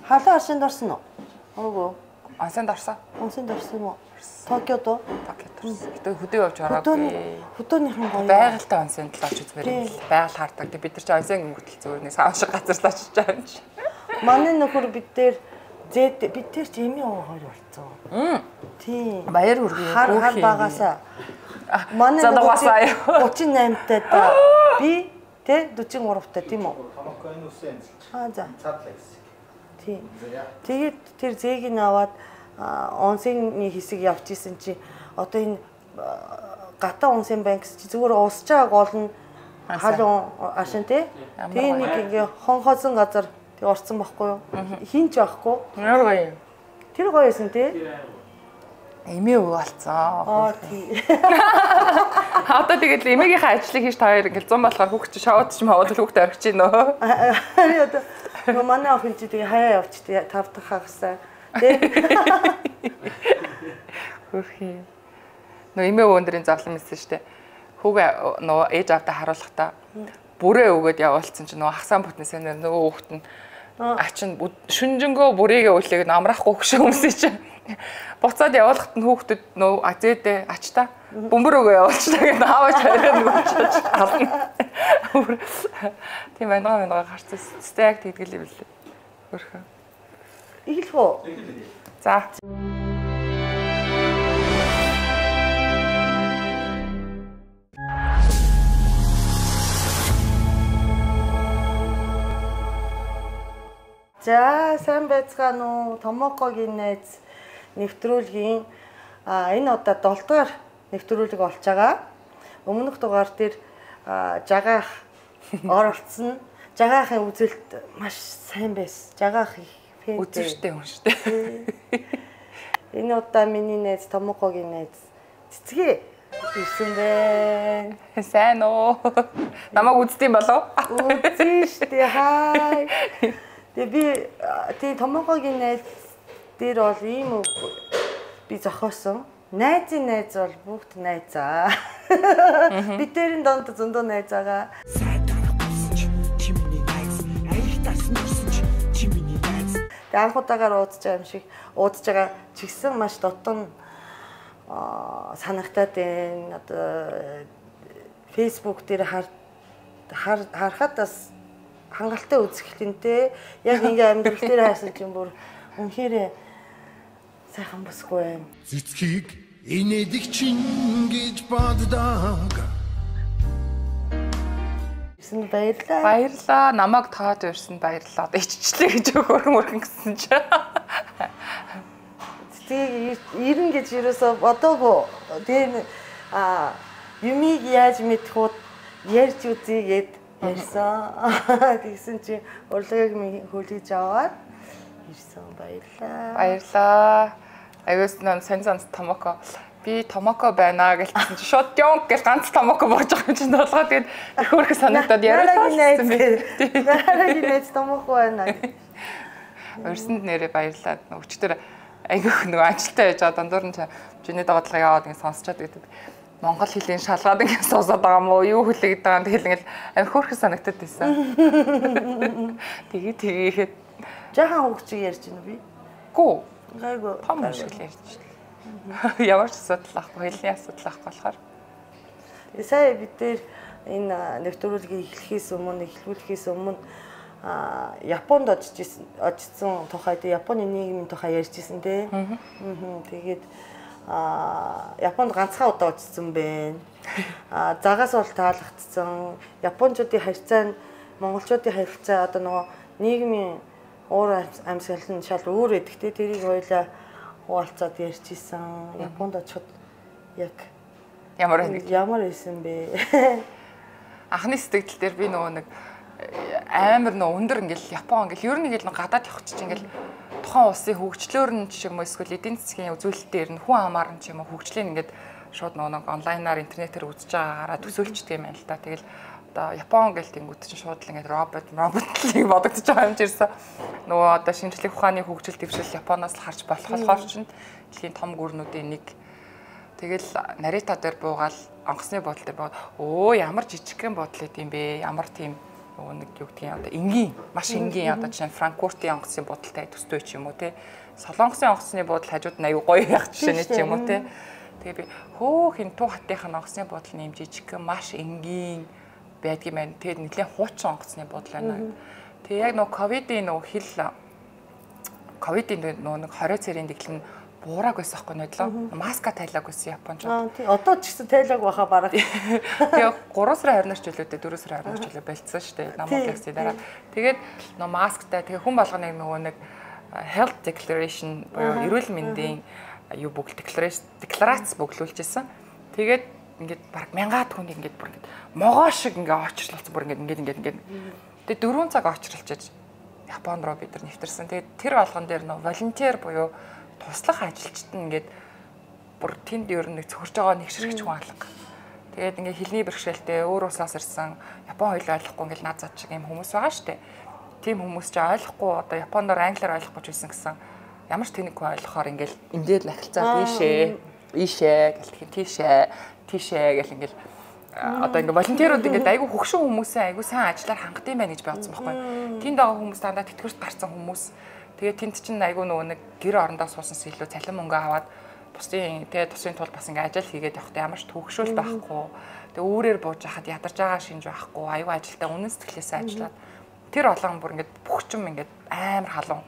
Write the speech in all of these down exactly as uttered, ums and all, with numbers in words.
халуун аршинд орсон уу? Үгүй. Онсонд орсон. Онсонд орсон уу? Токиод уу? Токиод орсон. Гэтэ хөдөө явж ороогүй. Хөдөөний гоё. Байгальтай онсонд л орж үзмээр юм л. Байгаль хардаг. Бид нар ч онсын гүтэл зүгээр нэг сав шиг газар л очиж байгаа юм чи. Манай нөхөр бид дээр зэд бид тэр ч эми хоёр болцсон. Тийм. Баяр хүргэе. Хар хар багасаа. Манай гучин наймтай та. Би тэ дөрвөн гуравтай тийм үү? Томоконы үсэн. Аа за. Цаадлаа. Тийм. Тэгээд тэр зэгийг аваад онсны хэсэг явж исэн чи одоо энэ гатаа онсын банк чи зүгээр уусч байгаа гол нь халуун ашин тий. Тэгээ нэг ингээ хонхоосон газар тэг орцсон байхгүй юу? Хинч байхгүй. Ямар гоё юм. Тэр гоё байсан тий. Эмээ өвөө болцсон. Аа тий. Одоо тэгэл эмээгийнхээ ажлыг хийж та хоёр ингээл зам болохоор хүүхд чи шавууд ч мавууд хүүхд орхиж гин нөө. Одоо манай охин чи тэгээ хаяа явчих тий тав дахь хагасаа. Тий. Хөрхий. Нөө эмээ өвөндрийн зовлон мэдсэн штэ. Хүүгээ нөө ээж авдаа харуулахдаа бүрээ өгөөд явуулсан чи нөө хасаан бүтнээсээ нөгөө хүүхд нь ачин шүнжэнгөө бүрээгээ үлээг амраахгүй хөшөө өмсөй чи. Буцаад явуулахад нь хүүхдэд нөө азэдэ ачта бөмбөр өгөө явуулчихлаа гэдэг аавч хараа нүгч гарна. Тийм байна байна гарцсан. Стек тэгдэл юм лээ. Хөрхөө. Иглэх үү? За. За, сайн байцгаана уу? Томокогийн найз нэвтрүүлгийн а энэ удаа долоо дахь нэвтрүүлэг болж байгаа. Өмнөх дугаар дээр жагаах оролцсон. Жагаахын үзэлт маш сайн байсан. Жагаах их фэн. Үзэвчтэй хүн шүү дээ. Энэ удаа миний найз Томокогийн найз цэцгээ ирсэн бэ. Сайн уу? Намайг үздэм болов? Үзэн штэ хай. Тэгээ би тий Томокогийн найз дээр бол ийм үг би зохиосон. Найзын найз бол бүгд найзаа. Би тэрийн донд зөндөө найз байгаа. Тэгээ анхудагаар уудаж байгаа юм шиг уудаж байгаа ч гэсэн маш дотн санагтаад байна. Одоо Facebook дээр харахад бас хангалттай үзэхлэнтэй яг ингээ амьдрал дээр хайсан чинь бүр үнэхээр сайхан босгүй байна. Цэцгийг инээдэг чин гэж боддог. Ирсэн баярлаа. Баярлаа. Намайг тоод ирсэн баярлаа. Одоо иччлээ гэж өгөөрөн өргөн гэсэн чи. Цэцгийг ирэн гэж юусоо бодоогүй. Тэр а юмыг яаж мэдэх вэ? Ярьж үзье гэд ярьсан. Тэгсэн чи урлагийг минь хөлөж аваад ирсэн. Баярлаа. Баярлаа. Аюус нөө сайн сан Томоко. Би Томоко байна гэлсэн чи шууд ёнг гэл ганц Томоко болж байгаа юм чинь толгой тэгээд их хөрх санагдаад яриулсан бэ. Дараагийн найз Томоко байна. Өрсөнд нэрээ баярлаа. Өчтөр айгүйх нөгөө ажилтаа яж байгаа дундуур нь чиний дагадлага яваад ингэ сонсчод гэдэг. Монгол хэлний шалгаад ингэ суусаад байгаа мó юу хэлээд байгаа юм тэгэл ингээл амир хөөрхөн санагдаад байсан. Тэгээ тэгээхэд жаахан хөгчийг ярьж байна би. Гүү. Гайгүй том шиг л ярьж байна. Ямар ч асуудал ахгүй, хэлний асуудал ахгүй болохоор. Сая бид дээр энэ нэвтрүүлгийг эхлэхээс өмнө эхлүүлэхээс өмнө а Японд очижсэн очсон тухай тэ Японы нийгмийн тухай ярьжсэн тэ. Аа. Тэгээд а Японд ганцхан удаа очсон байна. А загаас бол таалагдсан. Япончуудын харьцаа нь монголчуудын харьцаа одоо нөгөө нийгмийн уур амьсгал нь шал өөр эдэг тэ. Тэрийг хоёлаа хуваалцаад ярьжсэн. Японд очиход яг ямар нэг ямар байсан бэ? Анхны сэтгэл дээр би нөгөө нэг амар нөө өндөр ингээл Япон ингээл ер нь ингээл гадаад явах чинь ингээл тухайн улсын хөгжлөөр нь ч юм уу эсвэл эдийн засгийн үзүүлэлтээр нь хүн амаар нь ч юм уу хөгжлийн ингээд шууд нөгөө онлайнаар интернетээр үзэж байгаагаараа төсөөлчдөг юм байна л да. Тэгэл одоо Япон гэл тэнгууд чинь шууд л ингээд робот роботлыг бодогдож байгаа юм жирсэн. Нөгөө одоо шинжлэх ухааны хөгжил дэвшил Японоос л харж болох болохоор чинь дэлхийн том гүрнүүдийн нэг. Тэгэл нарита дээр буугаал онгоцны бодол дээр боо өө ямар жижигхэн бодол идэм бэ? Ямар тийм нөгөө нэг юу гэдгийг одоо энгийн маш энгийн одоо жишээ нь Франкфуртын онгоцны будалтай төстэй ч юм уу те Солонгосын онгоцны будал хажууд нь аюу гоё явах жишээ нь ч юм уу те тэгээ би хөөх энэ Туу хатынх нь онгоцны будал нэм жижиг маш энгийн байдгийм байна. Тэгээд нэлээд хуучин онгоцны будал байна. Тэгээ яг нөгөө ковидын нөгөө хил ковидын нөгөө нэг хорой цэрийн дэглэн буураг байсан байхгүй нэдлээ. Маска тайлаг байсан японочууд. Аа тий одоо ч гэсэн тайлаг баха бараг. Тэгээ гурван сарын арнаас чөлөөтэй дөрөв сарын арнаас чөлөө болцсон шүү дээ. Намууд лекцийн дараа. Тэгээд нөгөө масктай тэгээ хүн болгоны нөгөө нэг health declaration буюу эрүүл мэндийн юу бүгд декларац бөглүүлжсэн. Тэгээд ингээд баг мянгаад хүн ингээд бүр ингээд могоо шиг ингээд очрлолцсон бүр ингээд ингээд ингээд ингээд. Тэгээд дөрвөн цаг очрлолцож Японд руу бид нар нэвтэрсэн. Тэгээд тэр болгон дээр нөө волонтер буюу туслах ажилчид нь ингээд бүр тэнд ер нь цохирж байгаа нэгшрэгч хүн алга. Тэгээд ингээд хэлний бэрхшээлтэй өөр улсаас ирсэн Япон хоёул ойлгохгүй ингээд наад зад шиг юм хүмүүс байгаа штэ. Тийм хүмүүс ч ойлгохгүй одоо Японоор англиар ойлгохгүй ч байсан гэсэн ямар ч тэнэггүй ойлгохоор ингээд эндээ л ахилцаа ийшээ ийшээ гэлтэх тийшээ тийшээ гэл ингээд одоо ингээд волонтерууд ингээд айгүй хөгшин хүмүүсээ айгүй сайн ажиллаар хангад юм байна гэж би бодсон байхгүй. Тэнд байгаа хүмүүс дандаа тэтгэврт гарсан хүмүүс. Тэгээд тэнд чинь айгүй нөгөө нэг гэр орондоо суусан илүү цалин мөнгө аваад бусдын тэгээд тусын тул бас ингээд ажил хийгээд явахдаа ямар ч төгшөөл байхгүй. Тэгээд өөрөөр бууж хахад ядарч байгаа шинж байхгүй. Айгүй ажилдаа үнэн сэтгэлээсээ ажиллаад тэр олон бүр ингээд бүх юм ингээд амар халуун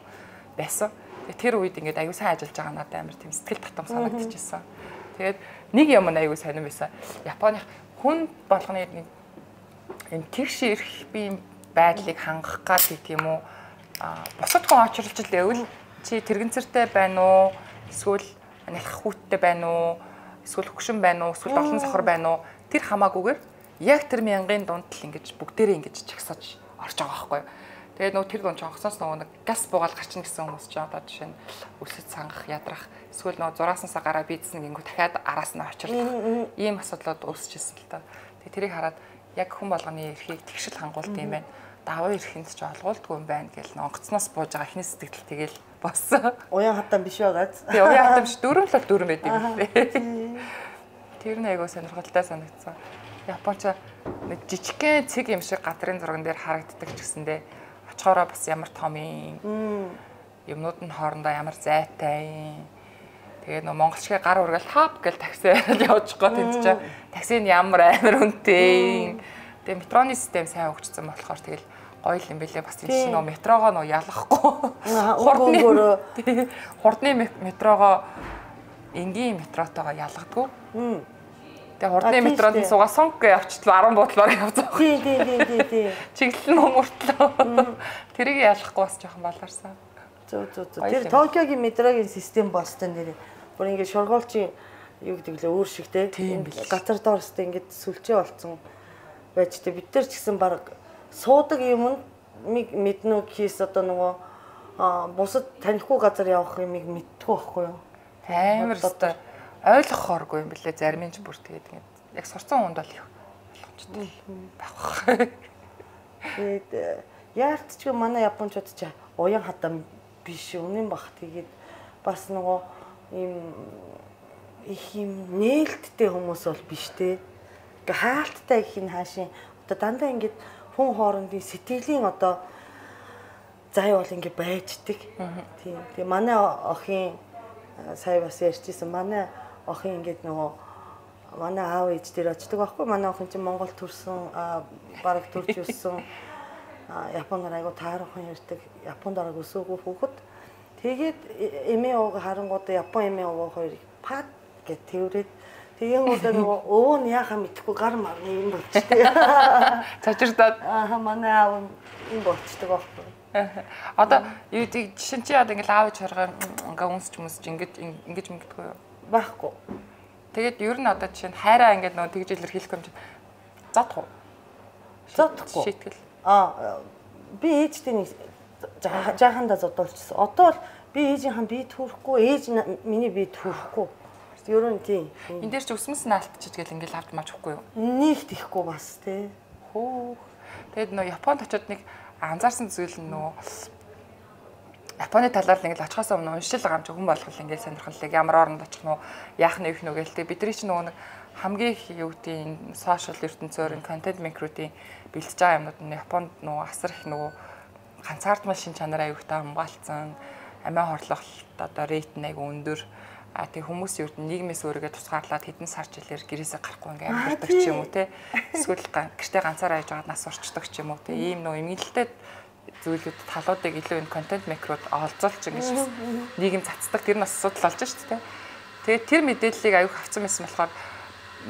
байсан. Тэгээд тэр үед ингээд айгүй сайн ажиллаж байгаа надад амар тийм сэтгэл татам санагдчихсан. Тэгээд нэг юм айгүй сонирн байсан. Японы хүн болгоны энэ тэгш ирэх би байдлыг хангах гад гэх юм уу босод хүн очрлж лээвэл чи тэрэгцэртэй байна уу эсвэл нялх хүүттэй байна уу эсвэл хөгшин байна уу эсвэл олон сохор байна уу тэр хамаагүйгээр яг тэр мянган дунд л ингэж бүгдээрээ ингэж чагсаж орж байгаа байхгүй юу. Тэгээд нөгөө тэр дунд чонхсоос нөгөө нэг газ буугаал гарчна гэсэн хүмүүс ч одоо жишээ нь өсөж сангах ядрах эсвэл нөгөө зурааснаасаа гараа бийдсэн гингүү дахиад араас нь очрлох ийм асуудлууд үүсчихсэн л та. Тэгээд тэрийг хараад яг хүн болгоны эрхийг тэгшил хангуулт юм байна. Даваа ирэхэнд ч олгуулдгүй юм байна гэл онгоцноос бууж байгаа ихний сэтгэл тэгэл боссон. Уян хатан биш байгааз. Тий, уян хатан биш дөрөв л дөрөв байд юм лээ. Тэр нь айгуу сонирхолтой санагдсан. Японч нэг жижигхэн цэг юм шиг гадрын зурган дээр харагддаг ч гэсэндээ очихороо бас ямар том юм. Юмнууд нь хоорондоо ямар зайтай юм. Тэгээд нөө монголчгийн гар ургал хап гэл таксиар явж байгаа тэнд чинь такси нь ямар амар үнэтэй. Тэгээд метроны систем сайн хөгжсөн болохоор тэгэл гоё юм бэлээ бас тийм чинь нөө метрогоо нөө ялахгүй. Хурдны хурдны метрогоо энгийн метротойгоо ялгадгүй. Тэгээ хурдны метронд суугаа сонг гэж явчихлаа арван буудлаар явцгаа. Тий, тий, тий, тий. Чиглэл нь мөртлөө. Тэрийг ялахгүй бас жоохон баларсан. Зөө зөө зөө. Тэр Токиогийн метрогийн систем болсон нэр. Бүр ингээд шоргоолчийн юу гэдэг лээ өөр шиг те. Газар доорстой ингээд сүлжээ болцсон байж те. Бид нар ч гэсэн баг суудаг юм мэднэ гэхээс одоо нөгөө бусад танихгүй газар явах юмыг мэдтгүй байхгүй юу? Амар өстой ойлгохооргүй юм блэ зарим нь ч бүр тэгээд ингээд яг сурцсан хүнд бол ойлгомжтой байх. Тэгээд яарт ч манай японочууд ч уян хатан биш үнэн бах. Тэгээд бас нөгөө ийм их юм нээлттэй хүмүүс бол биш те. Ингээ хаалттай их нь хаашийн одоо дандаа ингээд хүн хоорондын сэтгэлийн одоо зай бол ингээ байждаг. Тийм. Тэгээ манай охин сая бас ярьчихсан. Манай охин ингээд нөгөө манай аав ээж дээр очдөг байхгүй. Манай охин чинь Монгол төрсөн бараг төрж өссөн. Японоор айгу таархан ярьдаг. Японд арга өсөөгөө хүүхэд. Тэгээд эмээ ууг харангууд Япон эмээ ууг хоёрыг пад гэж тэрврээд тэгэнгүүтээ нөгөө өвөө нь яхаа мэдхгүй гар марны юм болчтой. Цочирдаад аа манай аав юм болчтой байхгүй. Одоо юу тийм жишээ чи одоо ингээл аавч харгаа ингээ үнсч юмсч ингэж ингэж ингэдэггүй юу? Байхгүй. Тэгээд ер нь одоо жишээ нь хайраа ингээд нөгөө тэгж илэрхийлэх юм чи задах уу? Задахгүй. Шийтгэл. Аа би ээжтэй нэг жаахандаа зодуулчихсан. Одоо би ээжийнхэн бие түүрэхгүй, ээж миний бие түүрэхгүй. Ер нь тийм. Энд дээр ч өсмөс нь алдчих гэл ингээл авч маж өгөхгүй юу? Нийт ихгүй бас тий. Хөө. Тэгээд нөө Японд очиод нэг анзаарсан зүйл нь нөө Японы талаар нэг л очихоос өмнө уншил байгаа юм чи хүн болгол ингээд сонирхолтой ямар оронд очих нь яах нь их нүгэл тэг бидний чинь нөгөө нэг хамгийн их юу гэдэг энэ сошиал ертөнцөөр контент микруудын бэлдэж байгаа юмнууд нь Японд нөгөө асар их нөгөө ганцаардмал шин чанар аюултай хамгаалцсан, амиа хорлох одоо рейт нь аягүй өндөр. А тэг хүмүүс юу гэдэг нийгмээс өөрийгөө тусгаарлаад хэдэн сар жилээр гэрээсээ гарахгүй ингээм амьдардаг ч юм уу те. Эсвэл гэртээ ганцаараа яж байгаад нас орчдөг ч юм уу те. Ийм нөө эмгэнэлтэй зүйлүүд талуудыг илүү энэ контент микрод олзуулж ингэж нийгэм цацдаг тэр нь бас асуудал болж шүү дээ. Тэгээд тэр мэдээллийг аюух авсан байсан болохоор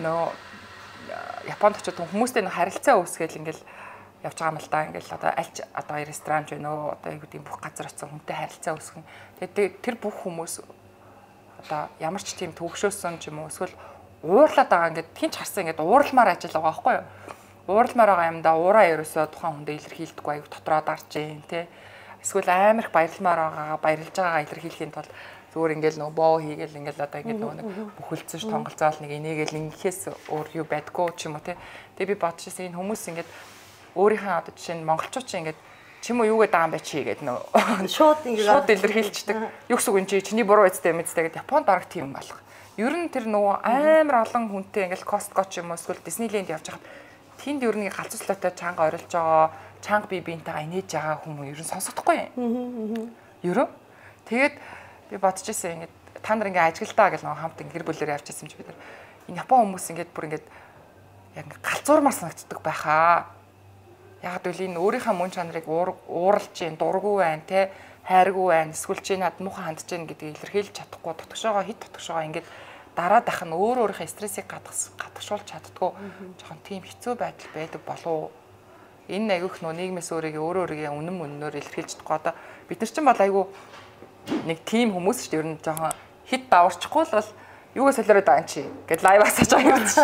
нөө Японд очиж хүмүүстэй нэг харилцаа үүсгээл ингээл явж байгаа юм л да. Ингээл одоо альч одоо ресторан ч вэ нөө одоо юу гэдэг бүх газар очисон хүнтэй харилцаа үүсгэн. Тэгээд тэр бүх хүмүүс одоо ямар ч тийм төвөгшөөсөн ч юм уу эсвэл уурлаад байгаа ингээд хинч харсан ингээд ууралмаар ажил байгаа байхгүй юу? Ууралмаар байгаа юмдаа уураа ерөөсөө тухайн хүндээ илэрхийлдэггүй аяг дотроо дарж जैन тий. Эсвэл амирх баярлмаар байгаа баярлж байгаагаа илэрхийлэхийн тулд зүгээр ингээд нөгөө боо хийгээл ингээд одоо ингээд нөгөө нэг бүхэлдсэн ш тонголзоол нэг энийгээл ингэхээс өөр юу байдгүй ч юм уу тий. Тэгээ би бодчихсон энэ хүмүүс ингээд өөрийнхөө одоо жишээ нь монголчууд чинь ингээд чим үү юугээд байгаа юм бэ чи гэдэг нөө шууд ингээд шууд илэрхийлчихдэг. Юу гэсэн үг энэ чи чиний буруу үстэй мэдтэй гэдэг Японд бараг тийм болох. Ер нь тэр нөгөө амар олон хүнтэй ингээд Costco ч юм уу эсвэл Disneyland явж хахад тэнд ер нь галзууслаатай чанга орилж байгаа, чанга бие биентэйгээ инээж байгаа хүмүүс ер нь сонсохдохгүй юм. Ерөө. Тэгээд би бодчихсон ингээд та нар ингээд ажиглалтаа гэл нөгөө хамт гэр бүлээр явж ирсэн чи бид нар энэ Япон хүмүүс ингээд бүр ингээд яг галзуурмаар санагддаг байхаа. Яг л энэ өөрийнхөө мөн чанарыг ууралж जैन дурггүй байна те хайргүй байна эсвэл чи над муухай хандж जैन гэдгийг илэрхийлж чадахгүй дотгошоогоо хит дотгошоогоо ингээд дараад ах нь өөр өөрийнхөө стрессийг гадагшуулж чаддгүй жоохон тийм хэцүү байдал байдаг болов. Энэ айгүйх нөө нийгмээс өөрийгөө өөр өөрийгөө үнэн мөннөөр илэрхийлж чадахгүй одоо бид нар ч бол айгүй нэг тийм хүмүүс шүү дээ ер нь жоохон хит даварчихгүй л бол юугаа солиороод байгаа юм чи гэд лайв асууж байгаа юм чи.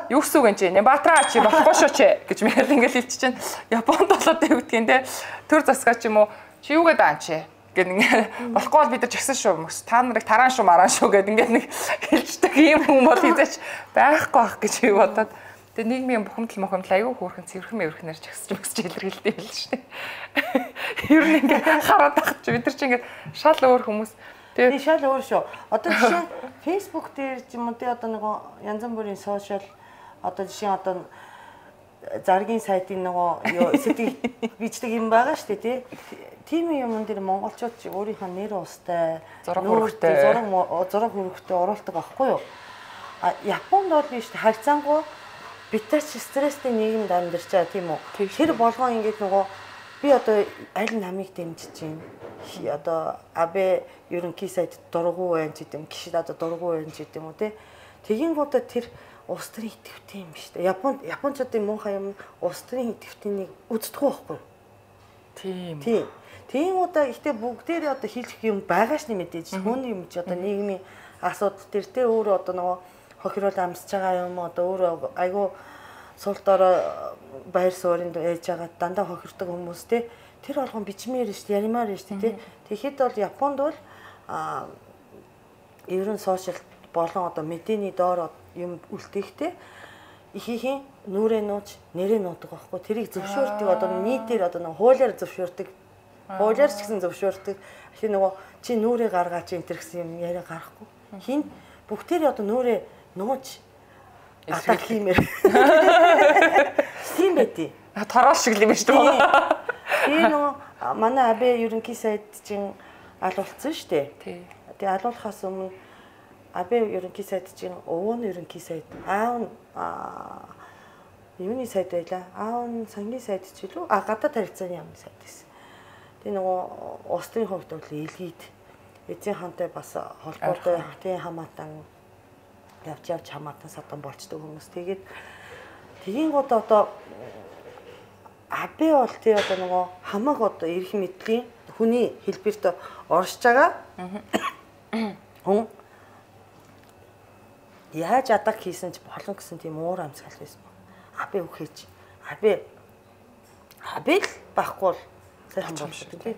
Юу гэсэн үг юм чи? Нэмбатраа чи болохгүй шүү чи гэж мэл ингээл хэлчих чинь. Японд болоод юу гэдгийг те төр засгаа ч юм уу чи юугаа даан чи гэд ингээ болохгүй бол бид нар жагсан шүү. Та нарыг тараан шүү маран шүү гэд ингээ нэг хэлждэг юм хүн бол хизээч байхгүй байх гэж би бодоод. Тэгээ нийгмийн бухимдал мохимдал аюу хөөрхөн цэвэрхэн мэвэрхнээр жагсаж мөсч илэрхийлдэг юм л шүү дээ. Ер нь ингээ хараад тахч бид нар чи ингээ шал өөр хүмүүс. Тэгээ шал өөр шүү. Одоо жишээ Facebook дээр ч юм уу тий одоо нөгөө янз бүрийн сошиал одоо жишээ одоо заргийн сайтын нөгөө сэдвийг бичдэг юм байгаа шүү дээ тий. Тийм юм дээр монголчууд ч өөрийнхөө нэр устай зураг хөрөгтэй зураг зураг хөрөгтэй оруулдаг байхгүй юу? А Японд бол биш харьцангуй битэрч стресстэй нийгэмд амьдарч байгаа тийм үү? Тэр болгоо ингээд нөгөө би одоо аль намыг дэмжиж чинь одоо абе ерөнхий сайд дургу байна ч гэдэм гişид одоо дургу байна ч гэдэм үү те тэгэнгүүтээ тэр улс төрийн идэвхтэй юм биш үү Японд японочдын муухай юм улс төрийн идэвхтэйнийг үздэггүй байхгүй тийм тийм тэгэнгүүтээ ихтэй бүгдээрээ одоо хэлэх юм байгаа ш нь мэдээж хүний юм чи одоо нийгмийн асуудал төр те өөрөө одоо нөгөө хохирол амсж байгаа юм одоо өөрөө айгүй сул дорой баяр суурьнд ээж байгаа дандаа хохирдог хүмүүс те тэр болгон бичмээр шүү дээ яримаар шүү дээ тэгэхэд бол Японд бол а ерөн сошиал болон одоо мэдээний доор юм үлдээхтэй ихийнхэн нүрээ нууж нэрээ нуудаг байхгүй тэрийг зөвшөөрдөг одоо нийтээр одоо нэг хуулиар зөвшөөрдөг хуулиар ч гэсэн зөвшөөрдөг ихе нөгөө чи нүрээ гаргаач энэ төр гэсэн юм яриа гарахгүй хин бүгдээр одоо нүрээ нууж атак хиймээр тийм байтий тараал шиг юм шүү дээ. Тэгээ нөгөө манай абе ерөнхий сайд чинь алуулсан шүү дээ. Тий. Тэгээ алуулахаас өмнө абе ерөнхий сайд чинь өвөн ерөнхий сайд аав юуны сайд байлаа. Аав нь сангийн сайд ч илүү а гадаад харилцааны яамны сайд гэсэн. Тэгээ нөгөө улс төрийн хувьд бол илгээд эзэн хантай бас холбоотой тийм хамаатан явж явж хамаатан садан болчдөг хүмүүс. Тэгээд тэгийн гот одоо абе бол тий одоо нөгөө хамаг одоо эрх мэдлийн хүний хэлбэрт оршиж байгаа. Хүн яаж атак хийсэн ч болно гэсэн тийм уур амьсгал байсан. Абе үхэж. Абе абе л байхгүй бол сайхан болчихсон тий.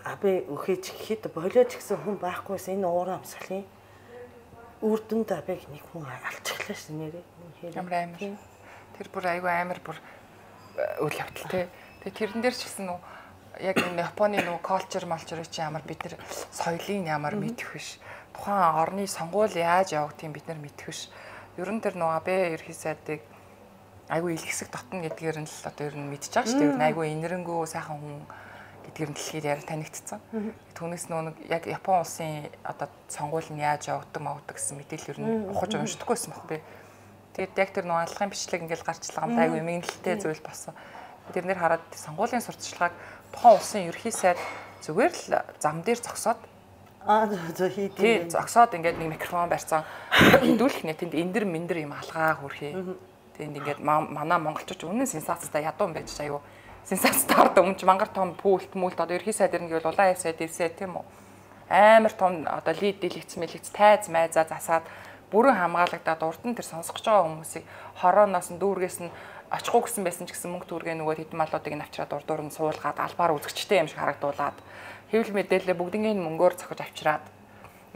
Абе үхэж гэхэд болоод гэсэн хүн байхгүйсэн энэ уур амьсгалын үр дүнд абег нэг хүн алчихлаа ш нэрээ. Ямар амар. Тэр бүр айгүй амар бүр үйл явдал те. Тэгээ тэрэн дээр ч гэсэн нөө яг энэ Японы нөгөө culture малчрыг чи ямар бид нар соёлын ямар мэдэх биш. Тухайн орны сонгуул яаж явагдгийг бид нар мэдэх биш. Ер нь тэр нөгөө Абе ерхий сайдыг айгүй илгэсэг дотно гэдгээр нь л одоо ер нь мэдчихэж байгаа шүү дээ. Ер нь айгүй инэрэнгүү сайхан хүн гэдгээр нь дэлхийд яриа танигдсан. Түүнээс нөгөө яг Япон улсын одоо сонгуул нь яаж явагддаг мавдаг гэсэн мэдээлэл ер нь ухаж уншдаггүй байсан баг би. Тэгээд яг тэр нөгөө аллагын бичлэг ингээл гарчлаа гамд айгүй эмгэнэлтэй зүйл болсон. Тэрнэр хараад сонгуулийн сурталчилгааг тухайн улсын ерхий сайд зүгээр л зам дээр зогсоод аа зөв хийдэг. Зогсоод ингээд нэг микрофон барьсан. Хэдүүлэх нэ тэнд эндэр мэндэр юм алгаа хүрхий. Тэнд ингээд манай монголчууд үнэн сенсацтай ядуу юм байж аюу. Сенсацтай ард өмнө мангар том пүүлт мүлт одоо ерхий сайд ирнэ гэвэл улаан сайд ирсэ тийм үү. Амар том одоо лид дэлгэц мэлгэц тайз майзаа засаад бүрэн хамгаалагдаад урд нь тэр сонсгож байгаа хүмүүсийг хорооноос нь дүүргээс нь очихгүй гэсэн байсан ч гэсэн мөнгө төгрөгийн нөгөө хэдэн малуудыг нь авчираад урд дуур нь суулгаад албаар үзэгчтэй юм шиг харагдуулаад хэвлэл мэдээлэл бүгднийг мөнгөөр зохиж авчираад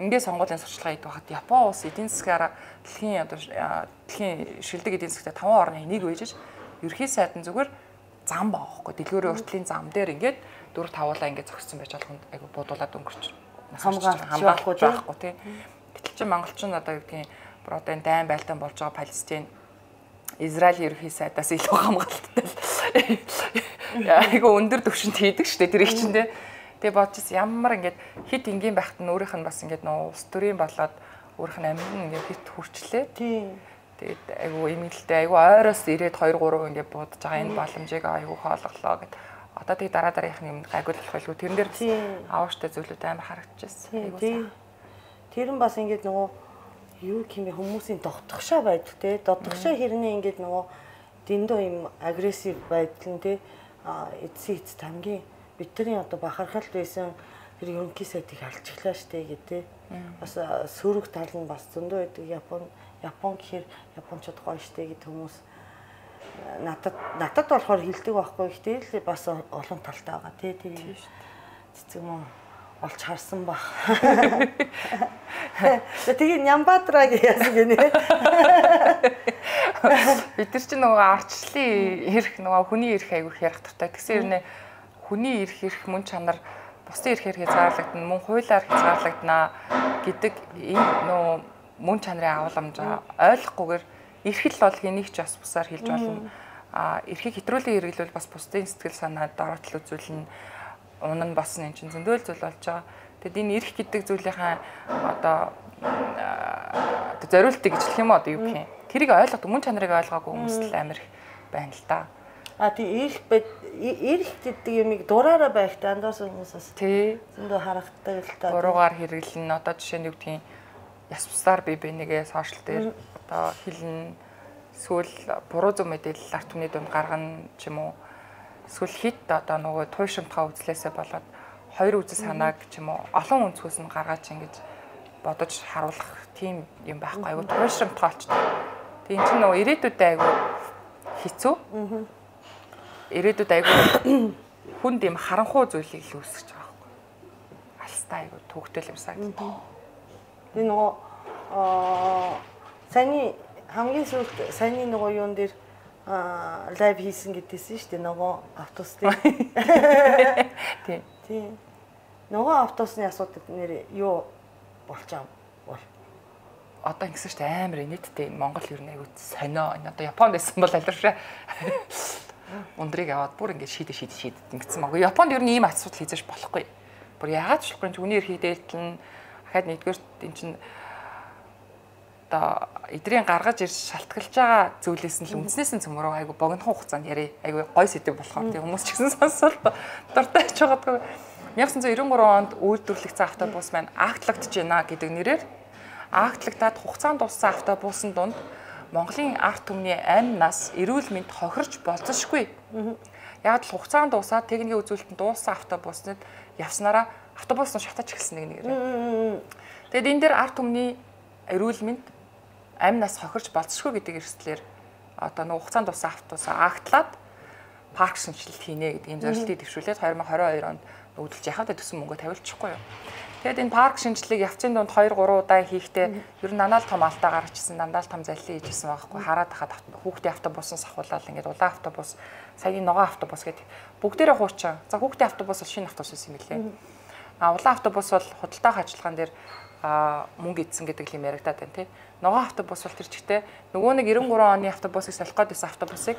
ингээд сонгуулийн сурчлагаа хийдэг байхад Япон улс эдийн засгаараа дэлхийн одоо дэлхийн шилдэг эдийн засгт таван орны нэг байжж ерхий сайд нь зүгээр зам баахгүй дэлгүүрийн уртлын зам дээр ингээд дөрв тавуулаа ингээд зогссон байж болгонд айгу буудуулаад өнгөрч хамгаалахгүй байхгүй тийм гэтэл чи монголчин одоо юу гэдгийг одоо энэ дайн байлдаан болж байгаа Палестин Израилийн ерхий сайдаас илүү хамгаалттай л айгу өндөр түвшинд хийдэг шүү дээ тэр их чинь тийм тэгээ бодчихс ямар ингээд хит энгийн байхад нь өөрийнх нь бас ингээд нөө улс төрийн болоод өөрийнх нь амин ингээд хит хүрчлээ тийм тэгээд айгу эмгэлтэй айгу ойроос ирээд хоёр гурав ингээд буудаж байгаа энэ боломжийг айгу хоолглоо гэд одоо тэг дараа дараагийнх нь юм гайгуулах байлгүй тэрэн дээр аавштай зүйлүүд амар харагдчихсан айгу тэр нь бас ингээд нөгөө юу гэмээ хүмүүсийн дотгошоо байдаг те дотгошоо хэрнээ ингээд нөгөө дэндүү юм агрессив байдал нь те эцсийн эц тамгийн бидний одоо бахархал байсан тэр ерөнхий сайдыг алчихлаа штэ гэ те бас сөрөг тал нь бас зөндөө байдаг Япон Япон гэхэр японочдод гоё штэ гэд хүмүүс надад надад болохоор хилдэг байхгүй ихтэй л бас олон талтай байгаа те тэр цэцэг мөн олж харсан баг. Тэгээ Нямбатраг яасан гинэ. Бид нар чинь нөгөө арчлалын эрх нөгөө хүний эрх айгүйх ярих туртай. Тэгсэн юм нэ хүний эрх эрх мөн чанар бусдын эрх эрхээ заарлагдана, мөн хуулиар хязгаарлагдана гэдэг энэ нөгөө мөн чанарын агуулмжаа ойлгохгүйгээр эрхэл бол хэнийг ч бас бусаар хэлж болно. А эрхийг хэтрүүлэн хэрэглүүл бас бусдын сэтгэл санаад дороотл үзүүлнэ. Унан босно энэ чинь зөндөл зүйл болж байгаа. Тэгэд энэ эрх гэдэг зүйлийнхаа одоо зориултыг гэж хэлэх юм уу одоо юу гэх юм. Тэрийг ойлгох, мөн чанарыг ойлгоогүй хүмүүс л амар их байна л да. А тий эрх эрх гэдэг юмыг дураараа байх дандаас хүмүүсээс тий зөндөө харагддаг л та. Буруугаар хэрэглэн одоо жишээ нь юу гэдгийг яс бусдаар бие бинийгээ сошиал дээр одоо хэлнэ. Эсвэл буруу зөв мэдээлэл арт түмний дунд гаргана ч юм уу. Эсвэл хит одоо нөгөө туйшимтгаа үзлээсээ болоод хоёр үзэл санааг ч юм уу олон өнцгөөс нь гаргаач ингэж бодож харуулах тийм юм байхгүй айгу туйшимтгаа олч. Тэг эн чинь нөгөө ирээдүйдээ айгу хэцүү. Ирээдүйд айгу хүнд юм харанхуй зүйлийг л үүсгэж байгаа байхгүй. Алстай айгу төвөгтэй юм санагдав. Би нөгөө аа саяны хамгийн сүүлд саяны нөгөө юун дээр а лайв хийсэн гэдээсэн шүү дээ нөгөө автобус дээр. Тий. Тий. Нөгөө автобусны асуудал нэр юу болчаа бол. Одоо ингэсэн шүү дээ амар нийтдээ энэ Монгол ер нь айгүй сонио. Энэ одоо Японд байсан бол алиршаа. Ундрыг аваад бүр ингэ шийдэ шийдэ шийдэ ингэсэн маа. Японд ер нь ийм асуудал хийж болохгүй. Бүр яагаад ч болохгүй хүний эрхийг дээлтэн дахиад нэгдүгээр энэ чинь одоо эдрийн гаргаж ирж шалтгаалж байгаа зүйлээс нь л үндснээс нь цөмөрөө айгу богинохон хугацаанд ярий айгу гой сэдв болохоор тийм хүмүүс ч гэсэн сонсоод дуртай ч байгаадгүй. нямсан зэ девяносто три онд үйлдвэрлэгдсэн автобус маань актлагдж байна гэдэг нэрээр актлагдаад хугацаанд дууссан автобусын дунд Монголын арт түмний амнаас эрүүл мэнд хохирч болцсошгүй. Яг л хугацаанд дуусаад техникийн үзүүлэлтэнд дууссан автобуснууд явснараа автобус нь шатаж эхэлсэн нэг нэрээр. Тэгэд энэ дээр арт түмний эрүүл мэнд амнаас хохирч болцсошгүй гэдэг эрсдлээр одоо нэг хугацаанд дууссан автобусаа актлаад парк шинжилт хийнэ гэдэг ийм зорилтыг дэвшүүлээд две тысячи двадцать two онд нүүдэлж яхад төсөн мөнгө тавилчихгүй юу. Тэгээд энэ парк шинжилгээг явцын донд хоёр гурван удаа хийхдээ ер нь дандаа л том алдаа гарчихсан, дандаа л том заллин хийжсэн байхгүй. Хараад хахад хүүхдийн автобусын сахуулаад ингээд улаан автобус, саяны ногоон автобус гэдэг бүгдээрээ хуучин. За хүүхдийн автобус бол шинэ автобус юм билээ. А улаан автобус бол худалдаах ажиллагаан дээр мөнгө идсэн гэдэг юм яригадаад байна тий. Ногоон автобус бол тэр чигтээ нөгөө нэг девяносто три оны автобусыг солих гээд байсан автобусыг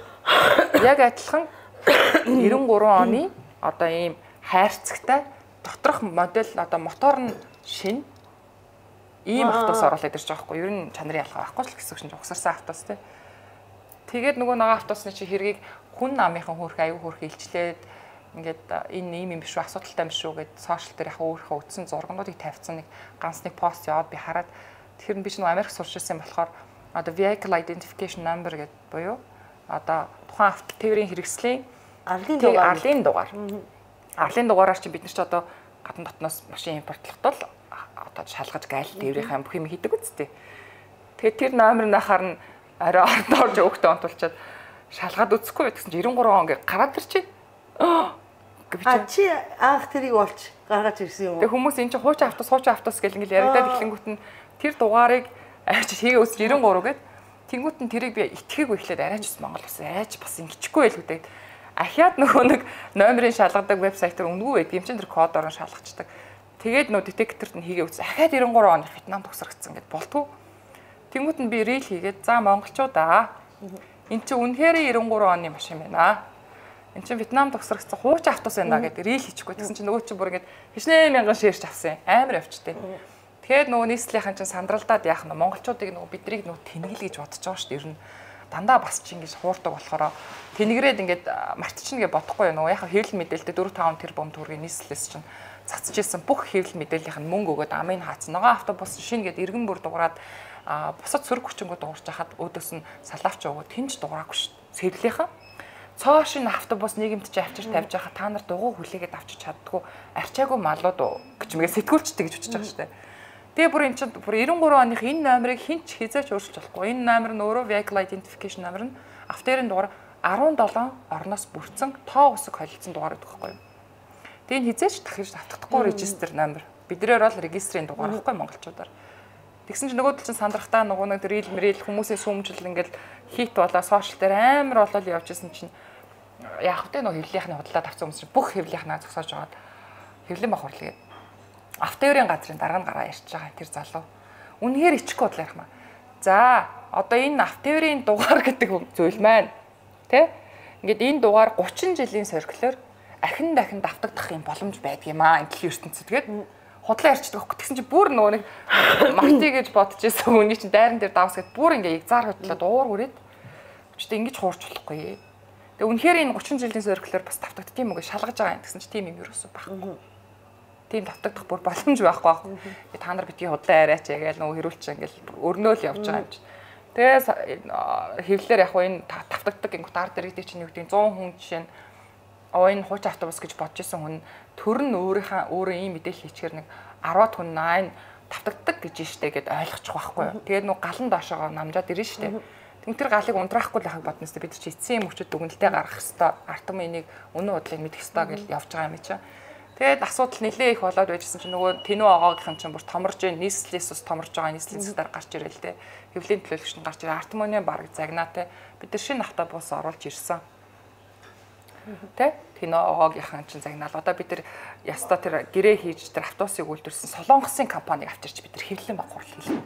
яг адилхан девяносто три оны одоо ийм хайрцагтай доторх модель одоо мотор нь шинэ ийм автобус оруулаад ирж байгаа хгүй. Ер нь чанарын ялгаа байхгүй ч гэсэн чинь угсарсан автобус тий. Тэгээд нөгөө ногоон автобусны чи хэргийг хүн намынхан хөөрх аюу хөөрх илчлээд ингээд энэ ийм юм биш үү асуудалтай юм шүү гэд сошиал дээр яг өөрийнхөө үтсэн зургнуудыг тавьсан нэг ганц нэг пост яваад би хараад тэгэхээр би ч нэг Америк сурч ирсэн болохоор одоо vehicle identification number гэдэг буюу одоо тухайн автотээврийн хэрэгслийн арлын дугаар арлын дугаар. Арлын дугаараар чи бид нар ч одоо гадна дотноос машин импортлохдоо одоо шалгаж гайл тээврийнхаа бүх юм хийдэг үсттэй. Тэгээд тэр номер нахаар нь арай ордоорж өгтөө онтулчаад шалгаад үзэхгүй гэсэн чи девяносто три он гэ гараад ирчих. А чи анх тэрийг олж гаргаж ирсэн юм уу? Тэг хүмүүс эн чинь хуучин автобус хуучин автобус гэл ингээл яригадаад эхлэнгүүт нь тэр дугаарыг авч хийгээ үс девяносто три гэд тэнгүүт нь тэрийг би итгээгүй эхлээд арайч ус Монгол бас айж бас ингэчихгүй байл үдээд ахиад нөгөө нэг номерын шалгадаг вебсайтаар өнгөө байдаг юм чинь тэр кодоор нь шалгацдаг. Тэгээд нөө детекторт нь хийгээ үс ахиад девяносто три онд Вьетнам төгсрөгцсөн гэд болтгоо. Тэнгүүт нь би рил хийгээд за монголчуудаа эн чинь үнэхээр девяносто три оны машин байна. Энд чинь Вьетнам төгсрөгцсөн хуучин автобус байна гэдэг рил хийчихгүй. Тэгсэн чинь нөгөө чинь бүр ингэж хичнээн мянган ширч авсан. Амар явчтэй. Тэгэхээр нөгөө нийслэлийн чинь сандралдаад яах нь монголчуудыг нөгөө бидрийг нөгөө тэнэгэл гэж бодож байгаа шүү дээ. Ер нь дандаа бас чи ингэж хуурдаг болохоор тэнэгрээд ингэж мартчихна гэж бодохгүй нөгөө яхаа хэвлэл мэдээлэлтэй дөрвөн таван тэрбум төгрөгийн нийслэлээс чинь цацж исэн бүх хэвлэл мэдээллийнх нь мөнгө өгөөд амын хаацсан. Нөгөө автобус шинэ гээд иргэн бүр дуураад бусад сөрөг хүчингүүд дуурч хахад өөдөөс нь салаавч өгөөд тэнж дуураагүй шүү. Сэрлийнхэн цоо шин автобус нийгэмд чи авчир тавьж байхад та нар дугуй хүлээгээд авчиж чаддгүй арчаагүй малууд гэж мэгээ сэтгүүлчтэй гэж үтчих байгаа шүү дээ. Тэгээ бүр эн чинь бүр девяносто три оных энэ номерыг хинч хизээч өөрчилж болохгүй. Энэ номер нь өөрөө vehicle identification номер нь автоэрийн дугаар десет seven орноос бүрдсэн тоо усаг холилдсон дугаар гэдэг байхгүй юу. Тэгээ энэ хизээч дахиж татдаггүй регистр номер. Биднээр бол регистрийн дугаар байхгүй монголчуудаар. Тэгсэн чинь нөгөө тал чинь сандрахтаа нөгөө нэг рил мэрил хүмүүсийн сүмжил ингээл хит болоо сошиал дээр амар болол явж исэн чинь яах вэ нөгөө хэвлэлийнхний худлаа тавцсан хүмүүс чинь бүх хэвлэлийнхнаа зогсоож аваад хэвлэн бах хурлаа. Автоэрийн газрын дараа нь гараа ярьж байгаа тэр залуу. Үнэхээр ичгүй бодлоо ярих маа. За, одоо энэ автоэрийн дугаар гэдэг зүйл маань тий? Ингээд энэ дугаар thirty жилийн цирклээр ахин дахин давтагдах юм боломж байдгийм аа энэ дэлхийн ертөнцид тэгээд худлаа ярьчихдаг байхгүй. Тэгсэн чи бүр нөгөө нэг марти гэж бодож байсан хүний чинь дайран дээр давс гэд бүр ингээ ягзаар хөдлөөд уур хүрээд өчтөө ингэж хуурч болохгүй. Тэгээ үнэхээр энэ thirty жилийн цирклээр бас давтагдт тийм үгүй шалгаж байгаа юм гэсэн чи тийм юм ерөөсөө байхгүй. Тийм давтагдах бүр боломж байхгүй байхгүй. Та нар битгий худлаа арайч ягээл нөгөө хэрүүлч ингээл өрнөөл явж байгаа юм чи. Тэгээ хэвлэлээр яг энэ давтагддаг гингут ар дэрэгдээ чинь юу гэдэг one hundred хүн жишээ нь оо энэ хуучин автобус гэж бодож исэн хүн төр нь өөрийнхөө өөрөө ийм мэдээлэл хийчихэр нэг ten хүн нine давтагддаг гэж штэ гэд ойлгочих байхгүй юу. Тэгээд нөгөө галан доошоо намжаад ирнэ штэ. Тэгвэл тэр галыг унтраахгүй л байхыг бодноос бид чи эцсийн юм хүчит дүгнэлтэд гаргах хэвээр арт юм энийг өнөө удлыг мэдэх хэвээр гэж явж байгаа юм чи. Тэгээд асуудал нэлээ их болоод байжсэн чинь нөгөө тэнүү агаагийнхан чинь бүр томорж ийн нийслэлээс ус томорж байгаа нийслэлийн зэгтэр гарч ирэл тэ. Хэвлийн төлөөлөгч нь гарч ирээ артмоны баг загнаа тэ. Бид нар шинэ автобус оруулж ирсэн. Тэ? Тэнүү агаагийнхан чинь загнаал. Одоо бид нар яста тэр гэрээ хийж тэр автобусыг үйлдвэрсэн Солонгосын компаниг авчирч бид нар хэвлэн баг хурал хийлээ.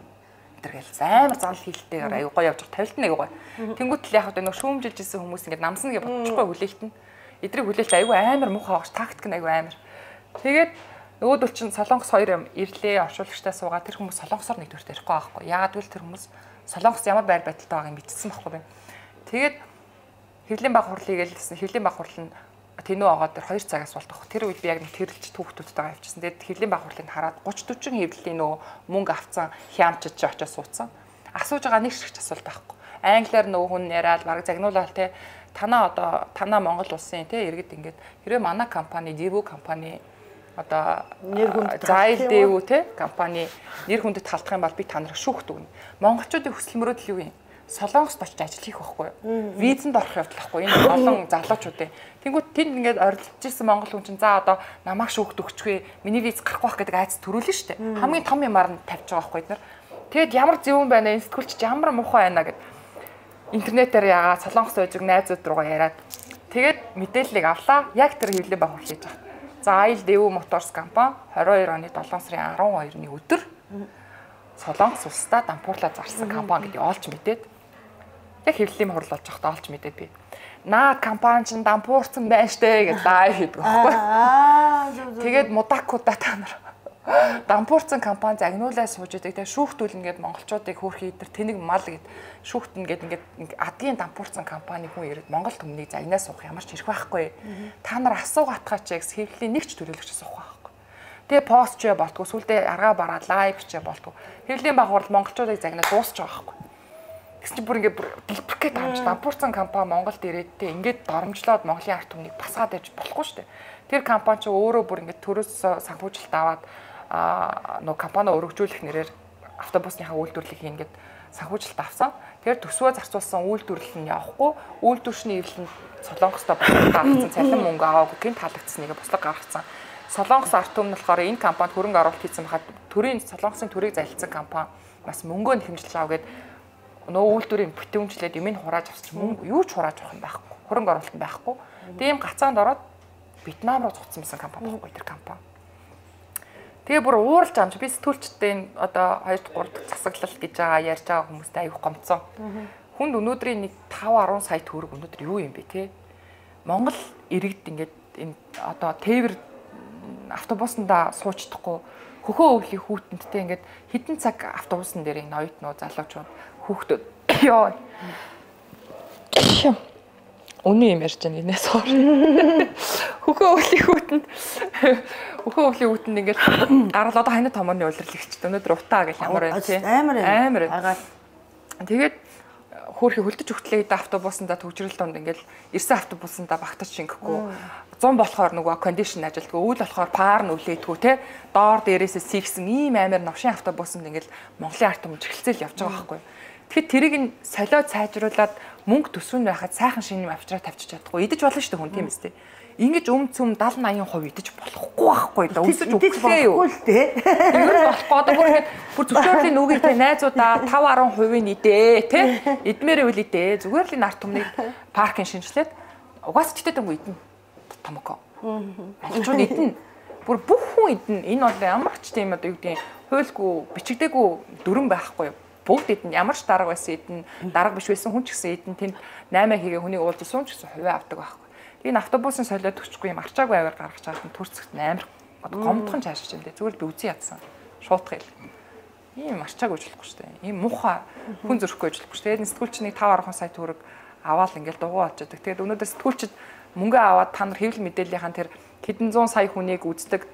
Тэр гээл амар занал хийлтэйгээр аюу гоо явж тавилт нэг гоо. Тэнгүүт л яг одоо нөгөө шүүмжилж исэн хүмүүс ингээд намсна гэж бодчихгүй хүлээлт нь. Эдрийг хүлээлт аюу амар муухай багш тактик нь аюу амар. Тэгээд нөгөөдөл чинь Солонгос хоёр юм ирлээ оршуулагчтай суугаад тэр хүмүүс Солонгосоор нэгдүгээр ярихгүй байхгүй. Яагаад гэвэл тэр хүмүүс Солонгос ямар байр байдалтай байгааг мэдсэн байхгүй байна. Тэгээд хэвлийн баг хурлыг гэлсэн хэвлийн баг хурл нь тэнүү агаа дээр two цагаас болтох. Тэр үед би яг нэг тэрэлж түүхтүүдтэйгээ авчихсан. Тэгээд хэвлийн баг хурлыг хараад thirty forty хэвлийн нөө мөнгө авцсан хямчиж чи очиж суудсан. Асууж байгаа нэг шигч асуулт байхгүй. Англиар нөө хүн яриад баг загнуулаад те танаа одоо танаа Монгол улсын те иргэд ингээд хэрвээ манай компани Divo компани одоо нэр хүнд зайл дэв те компани нэр хүндэд халдах юм бол би та нарыг шүүхт өгнө. Монголчуудын хүсэл мөрөөдөл юу юм? Солонгост очиж ажил хийх байхгүй юу? Визэнд орох явдал байхгүй. Энэ олон залуучуудын. Тэнгүүд тэнд ингээд орилж ирсэн монгол хүн чинь за одоо намайг шүүхт өгчгүй миний виз гарахгүй байх гэдэг айц төрүүлнэ шүү дээ. Хамгийн том юмар нь тавьж байгаа байхгүй эднэр. Тэгэд ямар зөвөн байна энэ сэтгүүлч ямар муухай байна гэд интернетээр ягаа солонгос ойжиг найзууд руугаа яриад тэгээд мэдээллийг авлаа. Яг тэр хэвлэлийн баг хийж байгаа. За Айл Дэв Моторс компани двадцать two оны долоон сарын арван хоёрны өдөр Солонгос улсдаа дампуурлаа зарсан компани гэдгийг олж мэдээд яг хэвлэлийн хурал болж байхдаа олж мэдээд би наад компани ч дампуурсан байна штэ гэж лайв хийдэг байхгүй. Тэгээд мудакуудаа та нар дампуурсан компани загнуулаа сууж идэг. Тэгээд шүүхтүүлнэ гэд монголчуудыг хөөрхий идэр тэнэг мал гэд шүүхтэн гэд ингээд адгийн дампуурсан компани хүн ирээд Монгол төмнийг загнаа суух ямар ч хэрэг байхгүй. Та нар асуугаатгаа ч гэсэн хэвлэлийн нэг ч төрөлөгч суух байхгүй. Тэгээ пост ч болтгоо сүлдээ аргаа бараа лайв ч болтгоо. Хэвлэлийн баг хурал монголчуудыг загнаа дуусч байгаа байхгүй. Тэгсэн чинь бүр ингээд дэлбэрхгээд амж дампуурсан компани Монголд ирээд тэ ингээд доромжлоод Монголын ард түмнийг басгаад явж болохгүй шүү дээ. Тэр компани ч өөрөө бүр ингээд төрөөс санхүүжилт аваад аа нөө компани өргөжүүлэх нэрээр автобусныхаа үйлдвэрлэлийг ингээд санхүүжилт авсан. Тэгэхээр төсвөө зарцуулсан үйлдвэрлэл нь явахгүй, үйлдвэршний эвлэнд Солонгостой бослогдсон цалин мөнгө аваагүй гин таалагдсаныг бослог гаргацсан. Солонгос ард түмэн болохоор энэ компанид хөрөнгө оруулалт хийсэн байхад төрийн Солонгосын төрийг залилсан компани бас мөнгөө хэмжилж аваа гэд нөө үйлдвэрийн бүтэмжлээд юмыг хурааж авч мөнгө юу ч хурааж авах юм байхгүй. Хөрөнгө оруулалт нь байхгүй. Тийм гацаанд ороод Вьетнам руу цуцсан байсан компани байхгүй тэр компани. Тэгээ бүр ууралж амж би сэтгүүлчтэй одоо хоёр дахь гурав дахь засаглал гэж байгаа ярьж байгаа хүмүүстэй аяг гомцсон. Хүнд өнөөдрийн нэг five ten сая төгрөг өнөөдөр юу юм бэ те? Монгол иргэд ингээд энэ одоо тээвэр автобусандаа сууж чадахгүй хөхөө өвлийн хүүтэнтэй ингээд хідэн цаг автобусан дээр энэ оюутнууд залуучууд хүүхдүүд ёо. Өний юм ярьж байгаа нээс хоор. Хөхөө өвлийн хүүтэнд хөхөө өвлийн хүүтэнд ингээд гарал одоо ханаа томооны улирлэгчд өнөөдөр утаа гэх ямар байна тий. Амар амар. Агаад тэгээд хөөрхи хөлдөж өгтлээ гэдэг автобусандаа төгжрөл донд ингээд ирсэн автобусандаа багтаж шингэхгүй зам болохоор нөгөө кондишн ажилтгүй үйл болохоор паар нүлээдгүй те доор дээрээсээ сийгсэн ийм амар новшин автобусанд ингээд Монголын ард түмэн чихэлцэл явж байгаа байхгүй. Тэгэхэд тэрийг нь солиод сайжруулад мөнгө төсвөн байхад сайхан шинэ авчраа тавьчих чадахгүй идэж болно шүү дээ хүн тийм үстэй. Ингэж өм цөм seventy eighty percent идэж болохгүй байхгүй да өсөж өгөхгүй юу л дээ. Юу болохгүй одоо бүр ингэж бүр зөвшөөрлийн нүгийг тэ найзуудаа five ten percent идээ тэ идмээр үл идээ зүгээр л энэ арт түмнийг паркинг шинжилээд угаас ч тэтэнгүү идэнэ томоко. Монголчууд идэнэ. Бүр бүх хүн идэнэ. Энэ бол ямар ч тийм одоо юу гэдэг хуйлгүй бичигдээгүй дүрэн байхгүй юу. Бүгд идэнэ. Ямар ч дарга байсан идэнэ. Дарга биш байсан хүн ч гэсэн идэнэ. Тэнд наймаа хийгээ хүний уулзсан сум ч гэсэн хувиа авдаг байхгүй. Энэ автобусын солиод өчгүй юм арчаагүй аваар гаргаж байгаа юм төрцөгт амар гомдхон чаашиж юм дээ. Зүгээр би үзий ядсан. Шуутгах хэл. Ийм арчаагүй ажиллахгүй шүү дээ. Ийм муухай хүн зөрөхгүй ажиллахгүй шүү дээ. Тэгээд сэтгүүлчнийг five ten сая төгрөг аваад ингээл дугуй олчихдаг. Тэгээд өнөөдөр сэтгүүлчид мөнгө аваад та нар хэвлэл мэдээллийнхэн тэр хэдэн зуун сая хүнийг үздэг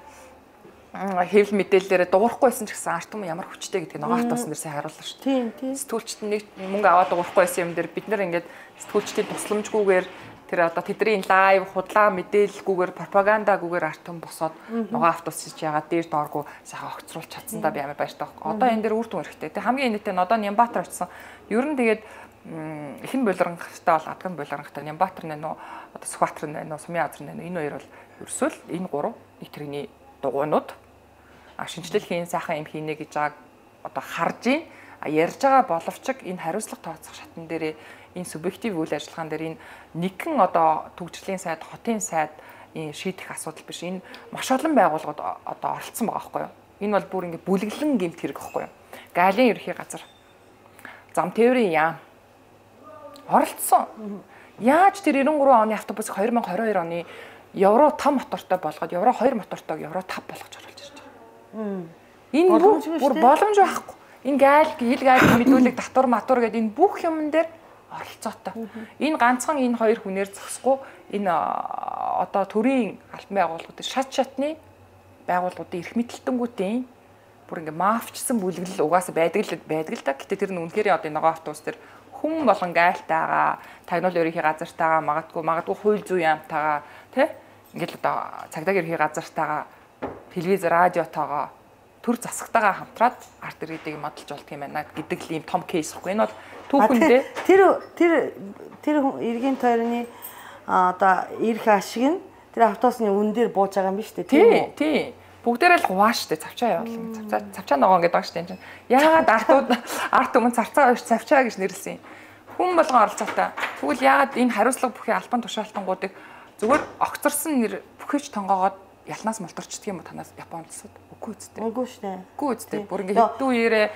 хэвлэл мэдээллээрээ дуурахгүйсэн ч гэсэн арт юм ямар хүчтэй гэдгийг нөгөө автосан дээр сайн харууллаа шүү. Тийм тийм. Сэтгүүлчд нэг мөнгө аваад дуурахгүйсэн юм дээр бид нар ингээд сэтгүүлчдийн тусламжгүйгээр тэр одоо тэдний лайв худлаа мэдээлэлгүйгээр пропагандагүйгээр арт юм босоод нөгөө автосч яагаад дээр дооргүй сайхан огцруулж чадсандаа би амар баяртай байхгүй. Одоо энэ дээр үр дүн хэрэгтэй. Тэг хамгийн энэтэй нь одоо Нямбатар очсон. Ер нь тэгээд эхэн болонгохтой бол адган болонгохтой Нямбатар нэ нөө одоо Сүхбаатар нэ нөө Сумын Азар нэ энэ хоёр бол ерөөсөө л энэ гурав нэг тэрний дугуйнууд а шинжлэлийн сайхан юм хийнэ гэж байгааг одоо харж ийн ярьж байгаа боловч энэ хариуцлага тооцох шатн дээр энэ субъектив үйл ажиллагаан дээр энэ нэгэн одоо төгжрлийн сайд хотын сайд энэ шийдэх асуудал биш энэ маш олон байгууллагууд одоо оролцсон байгаа байхгүй юу энэ бол бүр ингэ бүлэглэн гэмт хэрэг байхгүй юу Галийн ерхий газар зам тээврийн яам оролцсон яаж тэр ninety three оны автобусыг twenty twenty-two оны евро five мотортой болгоод евро two мотортойг евро five болгож оруулж ирж байгаа. Энэ бүр боломж байхгүй. Энэ гайл ил гайл мэдүүлэг татвар матур гэдэг энэ бүх юмн дээр оролцоотой. Энэ ганцхан энэ хоёр хүнээр зогсохгүй энэ одоо төрийн албан байгууллагуудын шат шатны байгууллагуудын эрх мэдэлтэнгүүтийн бүр ингээ мафчсан бүлэглэл угаасаа байдаг л байдаг л да. Гэтэ тэр нь үнэхээр одоо нөгөө автобус дээр хүн болон гайлтайгаа тагнуул ерөнхий газартайгаа магадгүй магадгүй хууль зүйн яамтайгаа тий ингээл одоо цагдаагийн ерөнхий газартайгаа телевиз радиотойгоо төр засагтайгаа хамтраад арт иргэдийг модалж болдго юм байна гэдэг л ийм том кейс ихгүй. Энэ бол түүхэндээ тэр тэр тэр иргэн тойрны одоо ирэх ашиг нь тэр автобусны үн дээр бууж байгаа юм биш үү? Тийм үү? Тийм. Бүгдээрээ л хуваа штэ цавчаа явуулна. Цавчаа цавчаа ногоо гэдэг байгаа штэ энэ чинь. Яагаад артууд арт өмнө цавцаа ууш цавчаа гэж нэрлсэн юм. Хүн болгон оролцоотой. Тэгвэл яагаад энэ хариуцлага бүхий албан тушаалтангуудыг зүгээр огцорсон нэр бүхийч тонгоогоод ялнаас мултарчдаг юм уу танаас Япондсууд? Үгүй үстэй. Үгүй шнэ. Үгүй үстэй. Бүр ингэ хэдэн үеэрээ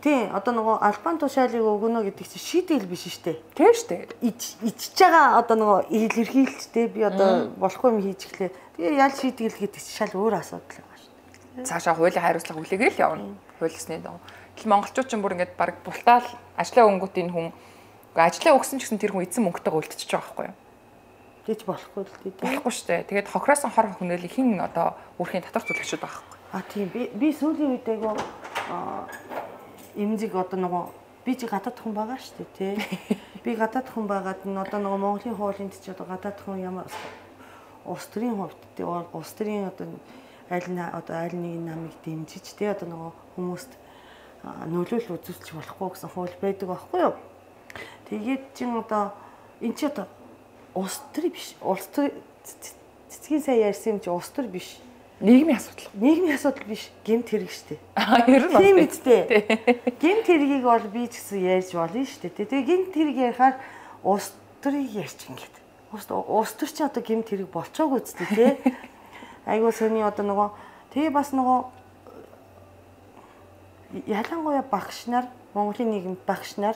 тийм одоо нөгөө албан тушаалыг өгнө гэдэг чинь шийдэл биш штэ. Тийм штэ. Ичж байгаа одоо нөгөө илэрхийлжтэй би одоо болохгүй юм хийж эхлэе. Тэгээ ял шийдэл гэдэг чинь шал өөр асуудал байгаа штэ. Цаашаа хуулийн хариуцлага хүлээгээл явна. Хуулисны доо. Тэгэл монголчууд ч бүр ингэ баг бултаал ажлаа өнгөт энэ хүн ажлаа өгсөн ч гэсэн тэр хүн эзэн мөнгөтэйгээ үлдчихэж байгаа байхгүй юу? Тэгж болохгүй л дээ. Болохгүй штэ. Тэгээд хохиросон хор хөнөөлийг хин одоо өөрхийн татвар төлөгчд байгаа байхгүй. А тийм би би сүүлийн үед айгу эмзэг одоо нөгөө би чи гадаад хүн байгаа штэ тий. Би гадаад хүн байгаад н одоо нөгөө Монголын хуулинд ч одоо гадаад хүн ямар улс төрийн хувьд тий улс төрийн одоо аль нь одоо аль нэг намыг дэмжиж тий одоо нөгөө хүмүүст нөлөөлөл үзүүлж болохгүй гэсэн хууль байдаг байхгүй юу? Тэгээд чин одоо эн чи одоо улс төр биш улс төр цэцгийн сайн ярьсан юм чи улс төр биш нийгмийн асуудал. Нийгмийн асуудал биш гэмт хэрэг штэ. Аа ер нь тийм үстэй. Гэмт хэргийг бол би ч гэсэн ярьж болно штэ. Тэгээ гэмт хэрэг ярихаар улс төрийг ярьж ингээд. Улс улс төр чи одоо гэмт хэрэг болцоогүй үстэй тий. Айгуу сони одоо нөгөө тэгээ бас нөгөө ялангуяа багш нар Монголын нийгэмд багш нар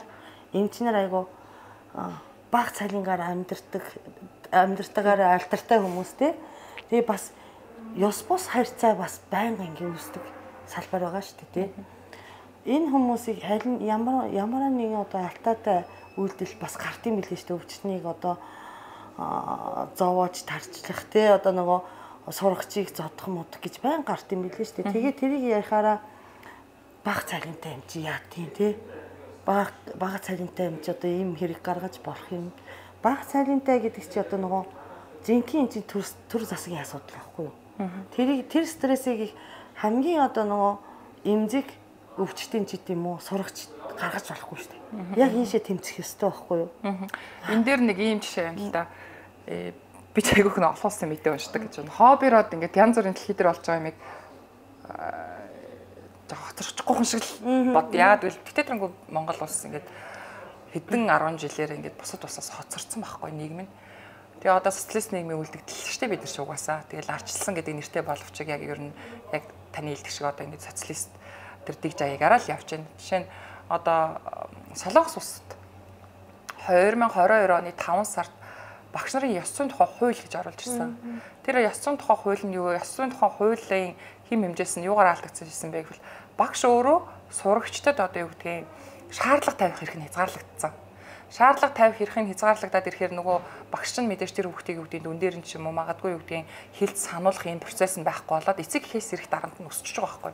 эмч нар айгуу баг цалингаар амьдэрдэг амьдартаагаар альтартай хүмүүс те. Тэгээ бас ёс бус харьцаа бас байнга ингэ үүсдэг салбар байгаа шүү дээ те. Энэ хүмүүсийг харин ямар ямар нэгэн одоо алтаатай үйлдэл бас гарт юм билээ шүү дээ. Өвчтнийг одоо зовоож тарчлах те одоо нөгөө сургачийг зодох модох гэж байн гарт юм билээ шүү дээ. Тэгээ тэрийг ярихаараа баг цалинтай юм чи яа тийм те. Баг бага цалинтай юм чи одоо ийм хэрэг гаргаж болох юм. Бага цалинтай гэдэг чи одоо нөгөө жинхэнэ чи төр төр засгийн асуудал байхгүй юу? Тэрийг тэр стрессийг хамгийн одоо нөгөө эмзэг өвчтөн ч гэдэм үү сурагч гаргаж болохгүй шүү дээ. Яг ийшээ тэмцэх ёстой байхгүй юу? Энэ дээр нэг ийм жишээ юм л да. Э би ч айгүйх нь олуулсан мэдээ уншдаг гэж байна. Хоббироод ингээд янз бүрийн дэлхий дээр болж байгаа юмыг хоцорчихгүй хүн шиг л бод. Яагаад гэвэл диктатурын Монгол улс ингээд хэдэн арван жилээр ингээд бусад улсаас хоцорсон байхгүй нийгэм нь. Тэгээ одоо социалист нийгмийн үлдэгдэл шүү дээ бид нар ч угаасаа. Тэгэл арчилсан гэдэг нэртэй боловч яг ер нь яг таны хэлдэг шиг одоо ингээд социалист тэр дэг жаягаараа л явж байна. Жишээ нь одоо Солонгос улсад две тысячи двадцать two оны таван сард багш нарын ёс зүйн тухай хууль гэж оруулж ирсэн. Тэр ёс зүйн тухай хууль нь юу вэ? Ёс зүйн тухай хуулийн хэм хэмжээс нь юугаар алдагдсан бэ гэвэл багш өөрөө сурагчдад одоо юу гэдгийг шаардлага тавих хэрэг нь хязгаарлагдсан. Шаардлага тавих хэрэг нь хязгаарлагдаад ирэхээр нөгөө багш нь мэдээж тэр хүүхдийг үүдийн дүн дээр нь ч юм уу магадгүй юу гэдгийг хэлж сануулах юм процесс нь байхгүй болоод эцэг эхээс ирэх дарамт нь өсчихөж байгаа байхгүй.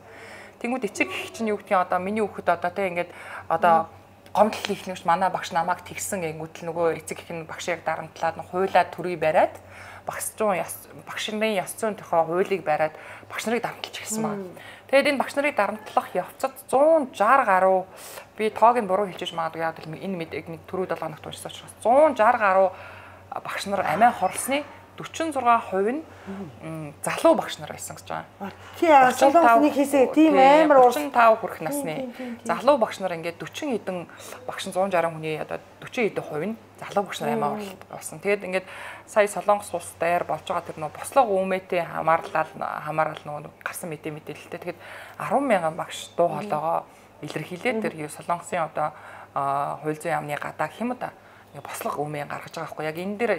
Тэнгүүд эцэг эх чинь юу гэдгийг одоо миний хүүхэд одоо тийм ингээд одоо гомдол ихнэгч манай багш намайг тэгсэн гэнгүүт л нөгөө эцэг эх нь багшийг дарамтлаад хуйлаад төрөй бариад багш зүүн багшийн ёс зүйн тухай хуулийг бариад багш нарыг дарамтлаж гисэн байна. Тэгэд энэ багш нарыг дарамтлах явцад one sixty гаруй би тоог нь буруу хэлж магадгүй яг л энэ мэдээг нэг түрүү долоо хоногт уншсан учраас one sixty гаруй багш нар амиа хорлсны forty-six percent нь залуу багш нар байсан гэж байгаа. Тий, залуусны хэсэг тийм амар forty-five хүрэх насны залуу багш нар ингээд forty хэдэн багш one sixty хүний одоо forty хэдэн хувь нь залуу багш нар амиа болсон. Тэгээд ингээд сая Солонгос улс дээр болж байгаа тэр нөө бослого үүмээтэй хамаарлал хамаарал нөгөө гарсан мэдээ мэдээлэлтэй. Тэгээд ten thousand багш дуу хоолойгоо илэрхийлээд тэр Солонгосын одоо хууль зүйн яамны гадаа гэх юм уу да бослого өмнө гаргаж байгаа байхгүй яг энэ дээр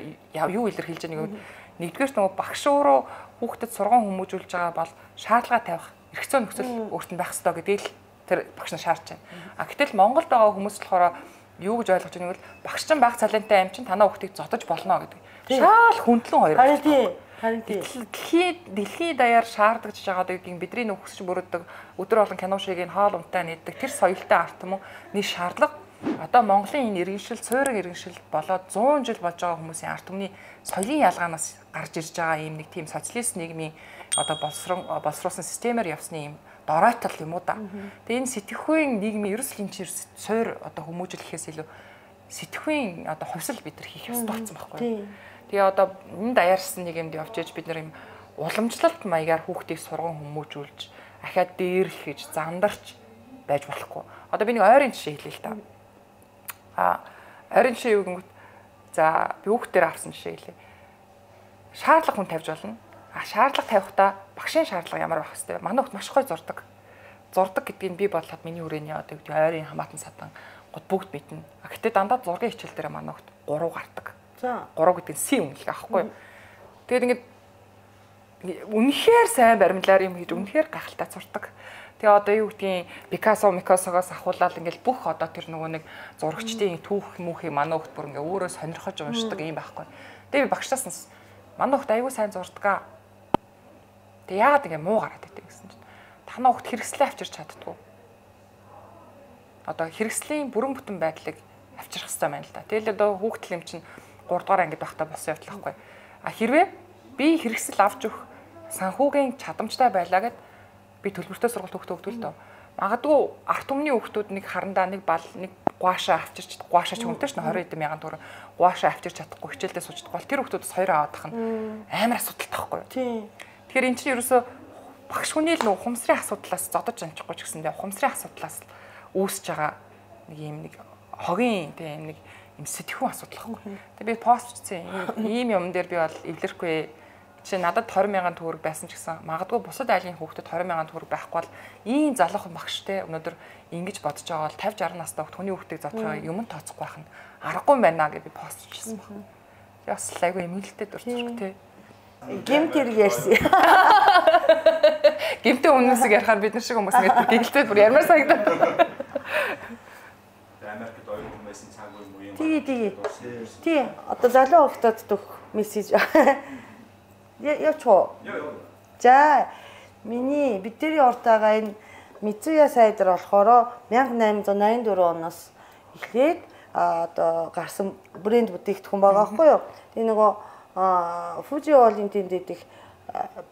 юу илэрхийлж байгаа нэг нэгдүгээр нөгөө багш өөрөө хүүхдэд сургууль хүмүүжүүлж байгаа бол шаардлага тавих эрх зүйн нөхцөл өөрт нь байх ёстой гэдгийг л тэр багш нар шаардж байна. А гэтэл Монголд байгаа хүмүүс болохоор юу гэж ойлгож байгааг нь багш чинь баг цалинтай аим чинь танаа хүүхдийг зодож болно гэдэг. Шаал хүндлэн хоёр. Харин тий. Харин тий. Дэлхийд дэлхийн даяар шаардлагаж байгаа гэдгийг бидний нөхөсч бүрддэг өдөр болгон кино шиг ин хоол унтаа нэгдэг тэр соёлтой арт юм уу нэг шаардлага одоо Монголын энэ иргэншил, цөөрөг иргэншил болоод one hundred жил болж байгаа хүмүүсийн ард түмний соёлын ялгаанаас гарч ирж байгаа ийм нэг тийм социалист нийгмийн одоо боловсрон боловсруулсан системээр явсны ийм доройтол юм уу да. Тэгээ энэ сэтгхүйн нийгмийн ерөөсөл энэ чинь суур одоо хүмүүжил гэхээс илүү сэтгхүйн одоо хувьсэл бид нар хийх ёстой болсон байхгүй. Тэгээ одоо энэ даяарсан нэг юмд явж ээж бид нар юм уламжлалт маягаар хүүхдийг сурган хүмүүжүүлж ахаад дээрлэхэж зандарч байж болохгүй. Одоо би нэг ойрын жишээ хэлье л та. А ойрын жишээ юу гэнгүүт за би хүүхдээр авсан жишээ хэлье. Шаардлага хүн тавьж болно. А шаардлага тавихдаа багшийн шаардлага ямар байх хэвээр. Манай хүүхд маш гоё зурдаг. Зурдаг гэдгийг би бодлоод миний хүрээний одоо гэдэг ойрын хамаатан садан гот бүгд мэднэ. А гэтээ дандаа зургийн хичээл дээр манай хүүхд гурав гардаг. За гурав гэдэг нь си үнэлэх аахгүй. Тэгээд ингээд үнэхээр сайн баримлаар юм хийж үнэхээр гахалтай зурдаг. Тэгээ одоо юу гэдгийг Пикассо, Микассогоос ахуулаад ингээд бүх одоо тэр нөгөө нэг зурагчдын түүх мүхийг манай хүүхд бүр ингээд өөрөө сонирхож уншдаг юм байхгүй. Тэгээ би багшаас нь манай хүүхд аягүй сайн зурдаг. Тэгээ яагаад ингэ муу гараад идэв гэсэн чинь танаа хүүхд хэрэгслээ авчирч чаддгүй. Одоо хэрэгслийн бүрэн бүтэн байдлыг авчрах хэрэгтэй байна л да. Тэгэл одоо хүүхдэл юм чинь гурав дахь ангид байхдаа болсон явдал байхгүй. А хэрвээ би хэрэгсэл авч өгөх санхүүгийн чадамжтай байлаа гэд би төлбөртэй сургалт хүүхдээ өгдөл дөө. Магадгүй арт түмний хүүхдүүд нэг харандаа нэг бал нэг гуашаа авчирч гуашаач хүнтэй ш нь двадцать эд мянган төгрөг гуашаа авчирч чадахгүй хичээлдээ суучдаг бол тэр хүүхдүүдс хоёр аваад тах нь амар асуудалтай байхгүй юу? Тийм. Тэгэхээр эн чинь ерөөсөө багш хүний л нөх ухамсарын асуудлаас зодож амжихгүй ч гэсэндээ ухамсарын асуудлаас үүсэж байгаа нэг юм нэг хогийн тийм нэг юм сэтгхүүн асуудал байхгүй. Тэгээ би постчсэн ийм юм дээр би бол эвлэрэхгүй. Жишээ надад двадцать мянган төгрөг байсан ч гэсэн магадгүй бусад айлын хүүхдэд двадцать мянган төгрөг байхгүй бол ийм залуухан багштай өнөөдөр ингэж бодож байгаа бол пятьдесят шестьдесят настай хүний хүүхдийг зодохоо юм тооцохгүй байх нь аргагүй байна гэж би постчсэн байна. Тэгээ бас айгүй эмгэлтэй дуртай тий. Гэмт хэрэг ярьсан. Гэмтээ өмнөөсөө ярихаар бид нар шиг хүмүүс ингэ гэгэлтэй бүр ярмаар санагдав. Америкт оюун хүмүүсийн цаг үе муу юм. Тий, тий. Тий, одоо залуу хүүхдүүд дөх мессеж. Явчоо. За, миний бидний уртаага энэ Мицуя сайдэр болохоор мянга найман найн дөрөв оноос эхлээд одоо гарсан брэнд бүтээгдэхүүн байгаа байхгүй юу? Тэгээ нөгөө Фужи Олын тэнд идэх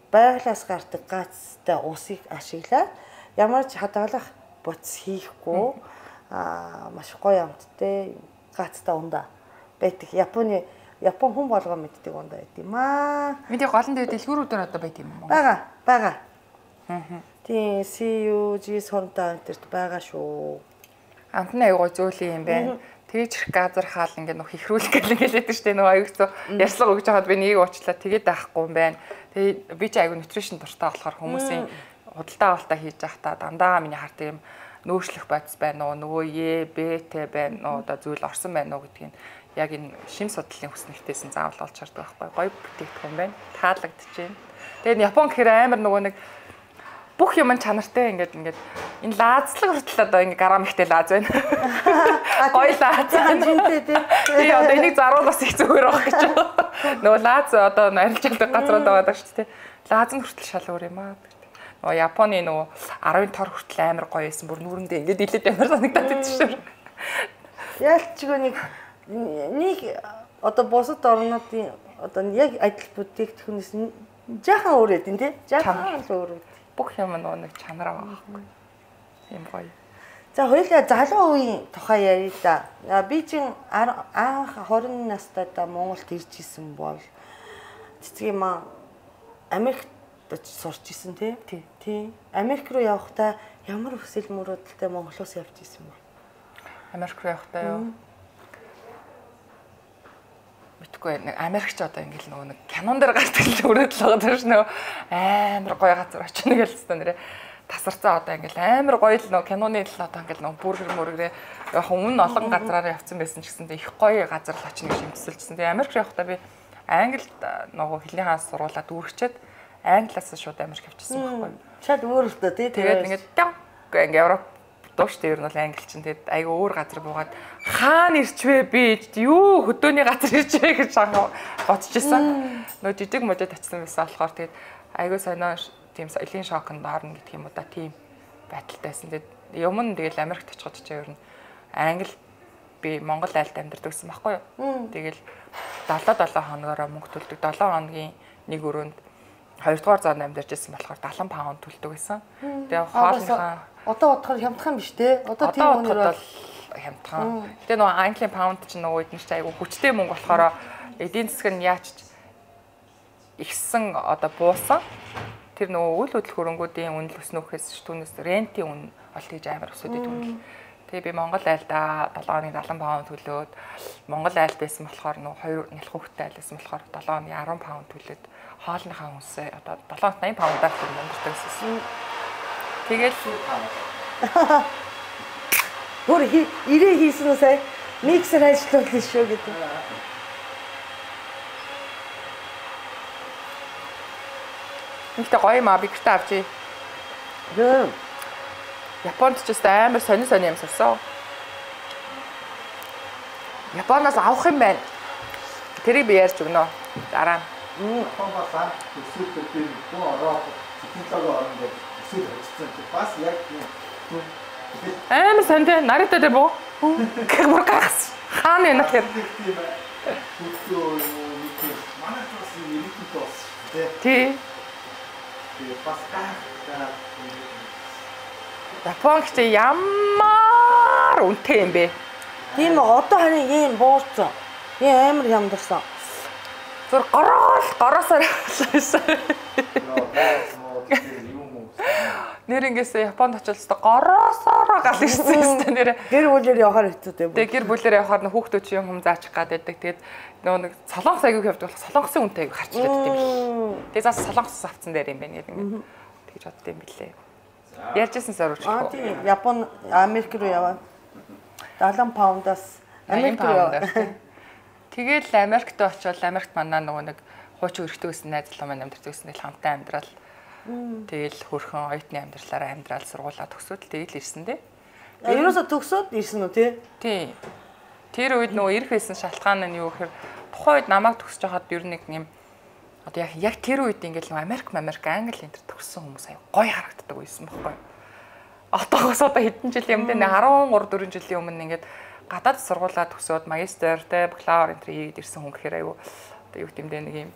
байгалаас гардаг гацтай усыг ашиглаад ямар ч хадгалах буц хийхгүй аа маш гоё амттай гацтай ундаа байдаг. Японы Япон хүн болгоо мэддэг ундаа байт юм аа. Миний голон дээр дэлгүүрүүдээр одоо байт юм уу? Бага, бага. Аа. Тийм, си ю жи сонтаа энтерт байгаа шүү. Амтны аягүй зөөлөн юм байна. Тэгэж их газар хаал ингээд нөх ихрүүлэх гэл ингээд лээдэж штэ нөгөө аюулцоо ярьслага өгч хаад би нэг уучлаа тэгээд байхгүй юм байна. Тэгээд би ч аягүй нутришн дуртай болохоор хүмүүсийн худалдаа авалтаа хийж байхдаа дандаа миний харт юм нөөшлөх бодис байна уу нөгөө е бт байна уу одоо зүйл орсон байна уу гэдгийг яг энэ шим судлалын хүснэгтээс нь заавал олж хардаг байхгүй гоё бүтээгдэхүүн байна. Таалагдж байна. Тэгээд Япон гэхээр амар нөгөө нэг бүх юм чанартай ингээд ингээд энэ лаазлаг хүртэл одоо ингээд грамм ихтэй лааз байна. Гоё лааз жинтэй тий. Би одоо энийг заруулаас их зүгээр байх гэж байна. Нөгөө лааз одоо арилжаалдаг газрууд байгаа шүү дээ. Лааз нь хүртэл шал өөр юм аа. Нөгөө Японы нөгөө аравын тор хүртэл амар гоё байсан. Бүр нүрэндээ ингээд илээд амар санагдаад байсан шүү дээ. Яалчгүй нэг нэг одоо бусад орнуудын одоо яг адил бүтээгдэхүүнээс жаахан өөр эдэн тий. Жаахан л өөр. Бүх юм нөгөө нэг чанараа байхгүй. Юм гоё. За хоёулаа залуу үеийн тухай ярил да. Би чинь анх двадцать настайдаа Монголд ирж исэн бол цэцгийн маа Америкт сурч исэн тий. Тий. Америк руу явахдаа ямар хүсэл мөрөөдөлтэй Монголоос явж исэн бэ? Америк руу явахдаа юу? Мэдгүй нэг Америкч одоо ингээл нөгөө нэг кинон дээр гардаг л өрөөдөл байгаа даа ш нөгөө амар гоё газар очно гэж л нэрэ тасарцаа одоо ингээл амар гоё л нөгөө киноны л одоо ингээл нөгөө бүргэр мөргөрээ яг өмнө олон газраараа явцсан байсан ч гэсэндээ их гоё газар л очно гэж шимтсэлжсэн. Тэгээ Америк явахдаа би Англид нөгөө хэлний хаан сургуулаад үргэлжчээд Англиас шууд Америк явчихсан байхгүй. Шал өөр л доо тий. Тэгээд ингээд ингээ Европ дууш дээр нь бол англичин тэгээд айгүй өөр газар буугаад хаана ирчвэ би юу хөдөөний газар ирчвэ гэж бодчихсон. Нөө жижиг модод очсон байсан болохоор тэгээд айгүй сонио тийм соёлын шокнд орно гэх юм уу да тийм байдалтайсэн. Тэгээд юм нь тэгэл Америкт очиход ч ер нь англи би Монгол айлд амьдардаг гэсэн байхгүй юу. Тэгэл долоо долоо хоногоор мөнгө төлдөг. долоо хоногийн нэг өрөөнд хоёрдугаар зоонд амьдарч байсан болохоор дагалан паунд төлдөг байсан. Тэгээ хоолныхаа одоо бодоход хямдхан биш те. Одоо тийм үнээр бол хямдхан. Гэтэ нөгөө Английн паунд чинь нөгөө үед нь ч айгүй хүчтэй мөнгө болохоор эдийн засаг нь яач ихсэн одоо буусан. Тэр нөгөө үйл хөдлөх хөрөнгүүдийн үнэл өснөхөөс түүнээс рентийн үн олт гэж амар өсөд идэв. Тэгээ би Монгол айлдаа долоо оны налан паунд төлөөд Монгол айл байсан болохоор нөгөө хоёр нялх хүүхэдтэй айл байсан болохоор долоо оны арван паунд төлөөд хоолныхаа үнсээ одоо долоо оноо найман паундаар төлөвлөдөг гэсэн. Тэгэл бүр ирээ хийсэн үү сая миксер ажиллуулах шүү гэдэг. Нэгтэй гоё маа би гэртээ авчи. Гэн. Японд ч гэсэн амар сонир сонир юм сурсан. Японоос авах юм байна. Тэрийг би ярьж өгнө. Дараа нь. Японоос төсөөлт дээр гоо ороо технологи орно гэж төсөөл хийсэн чи бас яг тийм амар сонир Наруто дээр боо. Гэр гахс. Хаана юм гэхээр төсөөл нэг манай тус нэг тус тий. Бас гах Япон гэхдээ ямар үнэтэй юм бэ? Тийм одоо харин ийм буурсан. Ийм амар ямдарсан. Зүр гороол гороосоор байсан. Нэр ингэсэн Японд очиж та гороосоор гал ирсэн юм нэр. Гэр бүлээр явахаар хэцүү дээ. Тэгээ гэр бүлээр явахаар н хүүхдүүд чи юм заачих гад байдаг. Тэгээд нөгөө нэг солонгос аягүй явдаг болох солонгосын үнэтэй аягүй харч ирээд юм биш. Тэгээ зас солонгос авцсан дээр юм байна гэдэг ингэ. Тэгж бодд юм билээ. Ярьжсэн сорвч. Аа тийм Япон Америк руу яваа. дагалан паундаас Америк руу яваа. Тэгэл Америкт очивол Америкт манаа нөгөө нэг хуучин өрхтөө гэсэн найз залуу маань амьдарч байсан л хамтаа амьдрал. Тэгэл хөрхөн оюутны амьдралаараа амьдрал сургуулаа төгсөөд тэгэл ирсэн дээ. Ерөөсө төгсөөд ирсэн үү тий? Тий. Тэр үед нөгөө ирэх байсан шалтгаан нь юу гэхээр тухайн үед намайг төгсөж байхад ер нь нэг юм одоо яг яг тэр үед ингээл нөгөө Америк, Америк, Англи энэ төр төгссөн хүмүүс аяа гоё харагддаг байсан байхгүй. Одоогоос одоо хэдэн жил юм дээ13 4 жилийн өмнө ингээд гадаад сургуулаа төгсөөд магистр тэ бакалавр энэ хийгээд ирсэн хүн гэхээр аюу одоо юу гэмдэ нэг юм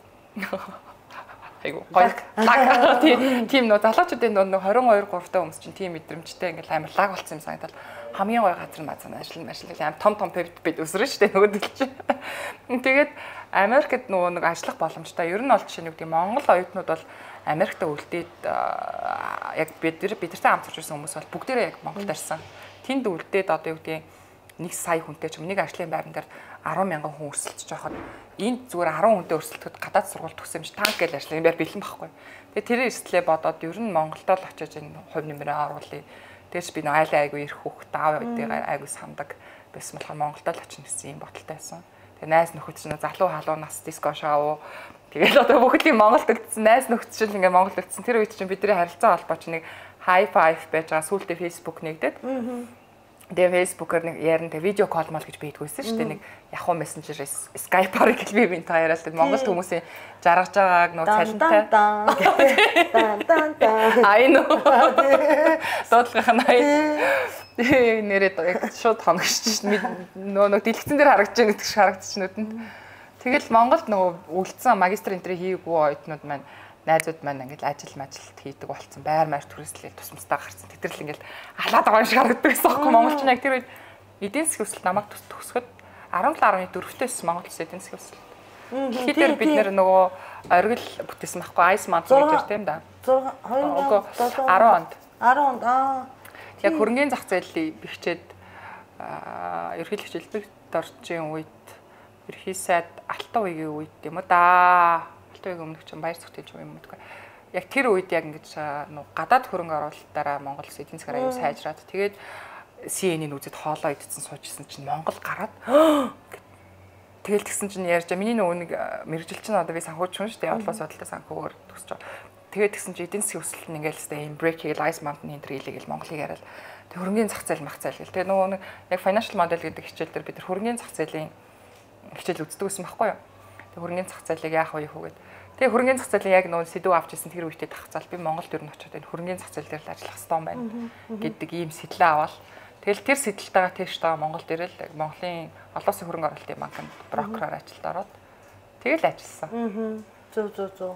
айгу гоё лаг тийм нөө залуучуудын нөө двадцать two три та хүмүүс чинь тийм мэдрэмжтэй ингээл амар лаг болсон юм санагдал хамгийн гоё газар мазан ажил ажил амар том том пивт бид өсрөн штэ нөгөөдөл чинь тэгээд Америкт нөгөө нэг ажиллах боломжтой ер нь бол жишээ нь гэдэг Монгол оюутнууд бол Америкт үлдээд яг бид бидэртэй хамт сурч байсан хүмүүс бол бүгдээрээ яг Монголд ирсэн тэнд үлдээд одоо юу гэдэг нэг сая хүнтэй ч юм нэг ажлын байран дээр ten мянган хүн өрсөлдөж байхад энд зүгээр ten хүнтэй өрсөлдөхөд гадаад сургууль төгсөн юм чи танк гэж ажлын байр бэлэн байхгүй. Тэгээ тэр эрсдлээ бодоод ер нь Монголд л очиж энэ хувь нэмрээ оруулъя. Тэгээс би нэг айлаа айгу ирэх хүүхд аав үдийг айгу сандаг байсан болохоор Монголд л очих гэсэн юм бодолтой байсан. Тэгээ найз нөхөд чинь залуу халуу нас диско шоу тэгэл одоо бүхэл юм Монголд үлдсэн найз нөхөд чинь ингээ Монголд үлдсэн тэр үед чинь бидний харилцаа холбоо чинь нэг high five байж байгаа сүүлдээ Facebook нэгдээд тэгээ Facebook-оор нэг ярина тэгээ видео кол мал гэж бийдгүйсэн шүү дээ нэг Yahoo Messenger Skype-аар гэж би бинт хоёроо л Монголд хүмүүсийн жаргаж байгааг нөө цалинтай дан дан дан I know дуудлага ханаа нэрээ шууд хоногч нөө нөө дэлгэцэн дээр харагдаж байгаа гэдэг шиг харагдчих нүдэнд тэгэл Монголд нөгөө үлдсэн магистр энтри хийгээгүй оюутнууд маань найзууд маань ингээл ажил мажилт хийдэг болцсон байр маяг төрөслөл тусмастаа гарцсан. Тэтгэл ингээл алаад байгаа юм шиг харагддаг байсан байхгүй Монголч яг тэр үед эдийн засгийн өсөлт намайг төгсөхөд seventeen point four-ээс Монгол улс эдийн засгийн өсөлт. Тэгэхээр бид нэр нөгөө оргил бүтээсэн байхгүй айс манд гэж тийм да. two thousand ten онд. ten онд аа. Яг хөрөнгөний зах зээлийг бэхжээд ерөнхийлөгч хэлбэрт орчийн үед ерхий сайд алтан үеийн үед юм уу да. Төвийг өмнөх чинь баяр зүгтэж юм мэдгүй. Яг тэр үед яг ингэж гадаад хөрөнгө оруулалтаараа Монгол улс эдийн засгаар аюу сайжраад тэгээд си эн-ийн үзэд хоолоо идсэн суужсэн чинь Монгол гараад тэгэл тэгсэн чинь ярьж миний нөгөө нэг мэрэгжилчин одоо би санхүүч хүн шүү дээ. Явдлаас бодлоо санхүүгээр төгсөж байгаа. Тэгээд тэгсэн чинь эдийн засгийн өсөлт нь ингээл хэвээр break хийгээл ice mountain энэ хэлгээл Монголыг яриад тэг хөрөнгөний зах зээл мах зээл гэл. Тэгээд нөгөө нэг яг financial model гэдэг хичээл дээр бид нар хөрөнгөний зах зээлийн хичээл үздэг байсан байхгүй юу? Тэг хөрөнгөний зах зээлийг яах вэ хөөгээд. Тэгээ хөрөнгөний зах зээлийн яг нөө сэдв авч ирсэн тэр үедээ тахцаал би Монголд ер нь очиод энэ хөрөнгөний зах зээл дээр л ажиллах хэрэгтэй юм байна гэдэг ийм сэтлээ аваад тэгэл тэр сэдэлтэйгээ тийш таа Монголд ирэл Монголын олон улсын хөрөнгө оруулалтын банкнд брокероор ажилд ороод тэгэл ажилласан. Зөв зөв зөв.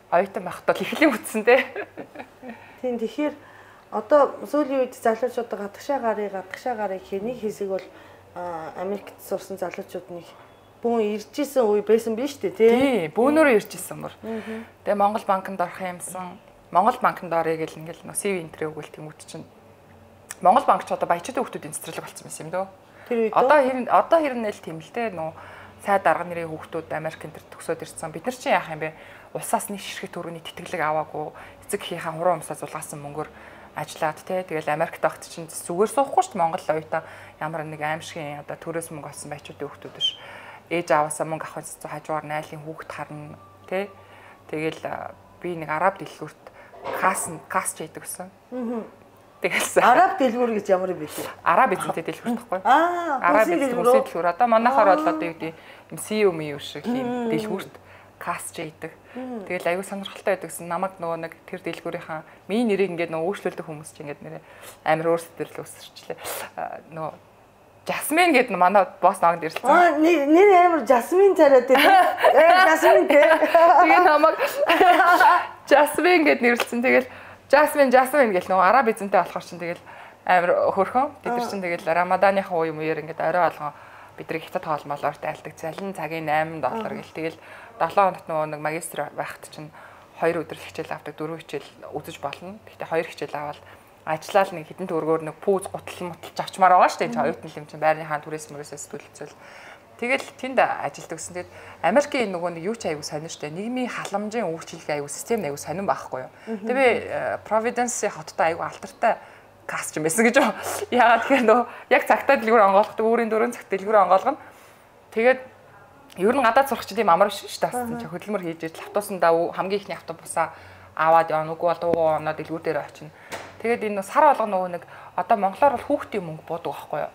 Оюутан байхдаа л эхлэн үтсэн дээ. Тийм тэгэхээр одоо сүүлийн үед залуучуудаа гадагшаа гарыг гадагшаа гарыг гэхээр нэг хэсэг бол Америкт сурсан залуучууд нэг хүн ирж исэн үе байсан биз дээ тий. Тий, бөөнөрөө ирж исэн мөр. Тэгээ Монгол банкнд орох юмсан. Монгол банкнд орё гэл ингээл нөө си ви энтрээ өгөөл тэмүүт чинь. Монгол банк ч одоо баячуудын хүмүүсийн цэцэрлэг болсон юм дөө. Тэр үед одоо хэрэг одоо хэрнээл тийм л те нөө цай дарга нэрийн хүүхдүүд Америкт тэр төгсөөд ирсэн. Бид нар чинь яах юм бэ? Улсаас нэг ширхэг төрөний тэтгэлэг аваагүй эцэг эхийнхээ хуруу өмсөө зулгаасан мөнгөөр ажиллаад те тэгэл Америкт огт чинь зүгээр суухгүй шүү дээ Монгол оюутан ямар нэг аимшигын одоо төрөөс мөнгө олсон баячуудын хүүхдүүд биш. Ээж аваасаа мөнгө авах гэсэн хажуугаар найлын хүүхд харна те тэгэл би нэг араб дэлгүүрт кас кас ч хийдэг гэсэн. Тэгэлсэн. Араб дэлгүүр гэж ямар юм бэ? Араб эзэнтэй дэлгүүр тахгүй. Аа, араб эзэнтэй дэлгүүр. Одоо манайхаар бол одоо юу гэдэг юм си ю ми ю шиг юм дэлгүүрт кас ч хийдэг. Тэгэл аюу сонирхолтой байдаг гэсэн намайг нөгөө нэг тэр дэлгүүрийнхаа миний нэрийг ингээд нөгөө өөрчлөлтөх хүмүүс ч ингээд нэрээ амар өөрсдөр л өсөрчлээ. Нөгөө Жасмин гэдэг манай босс наагд ирсэн. Аа, нэр амар Жасмин цараад тийм. Э, Жасмин тий. Тэгээ намайг Жасмин гэд нэрлсэн. Тэгэл Жасмин Жасмин гэл нөгөө араб эзэнтэй болохоор чинь тэгэл амар хөрхөн. Бид нар чинь тэгэл Рамаданыхаа үе мууэр ингээд орой болгон бидрийг хятад хоолмолоор тайлдаг. Залин цагийн восемь доллар гэл тэгэл долоо хоногт нөгөө нэг магистр байхад чинь хоёр өдөр хичээл авдаг, дөрөв хичээл үзэж болно. Гэхдээ хоёр хичээл аваад ажиллаад нэг хитэн төгрөгөөр нэг пүүз гутал муталж авчмаар байгаа шүү дээ. Оюутан юм чинь байрныхаа туризм мөрөөсөөс төлөвлөсөн. Тэгэл тэнд ажилладаг гэсэн. Тэгэд Америкийн нөгөө нэг юу ч аягүй сонир штэ. Нийгмийн халамжийн үйлчилгээ аягүй систем аягүй сонирн байхгүй юу. Тэгээ би Providence хоттой аягүй алдартай каст юм байсан гэж. Яагаад тэгэхээр нөгөө яг цагтаа дэлгүүр онгоолгодог, өөрийн дөрөв цагт дэлгүүр онгоолгоно. Тэгээд ер нь гадаад сурах чинь тийм амар биш шүү дээ. Чи хөдөлмөр хийж иж автобусандаа хамгийн ихний автобусаа аваад явна. Үгүй бол дуугаа оноо дэлгүүр дээр очино. Тэгээд энэ сар болгоно нөгөө нэг одоо монголоор бол хүүхдийн мөнгө буудаг байхгүй юу?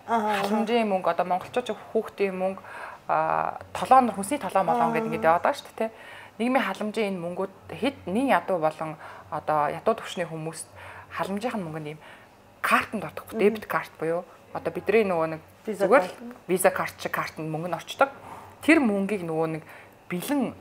Аа. Халамжийн мөнгө одоо монголчууд хүүхдийн мөнгө аа толгоон хүнсний толгоо молон гэдэг ингээд яваад байгаа шүү дээ. Нийгмийн халамжийн энэ мөнгүүд хэд нин ядуу болон одоо ядуу төвчний хүмүүст халамжийнх нь мөнгөнд ийм картанд ордог. Дебет карт буюу одоо бидний нөгөө нэг зүгээр виза карт шиг картанд мөнгө нь орчдог. Тэр мөнгийг нөгөө нэг бэлэн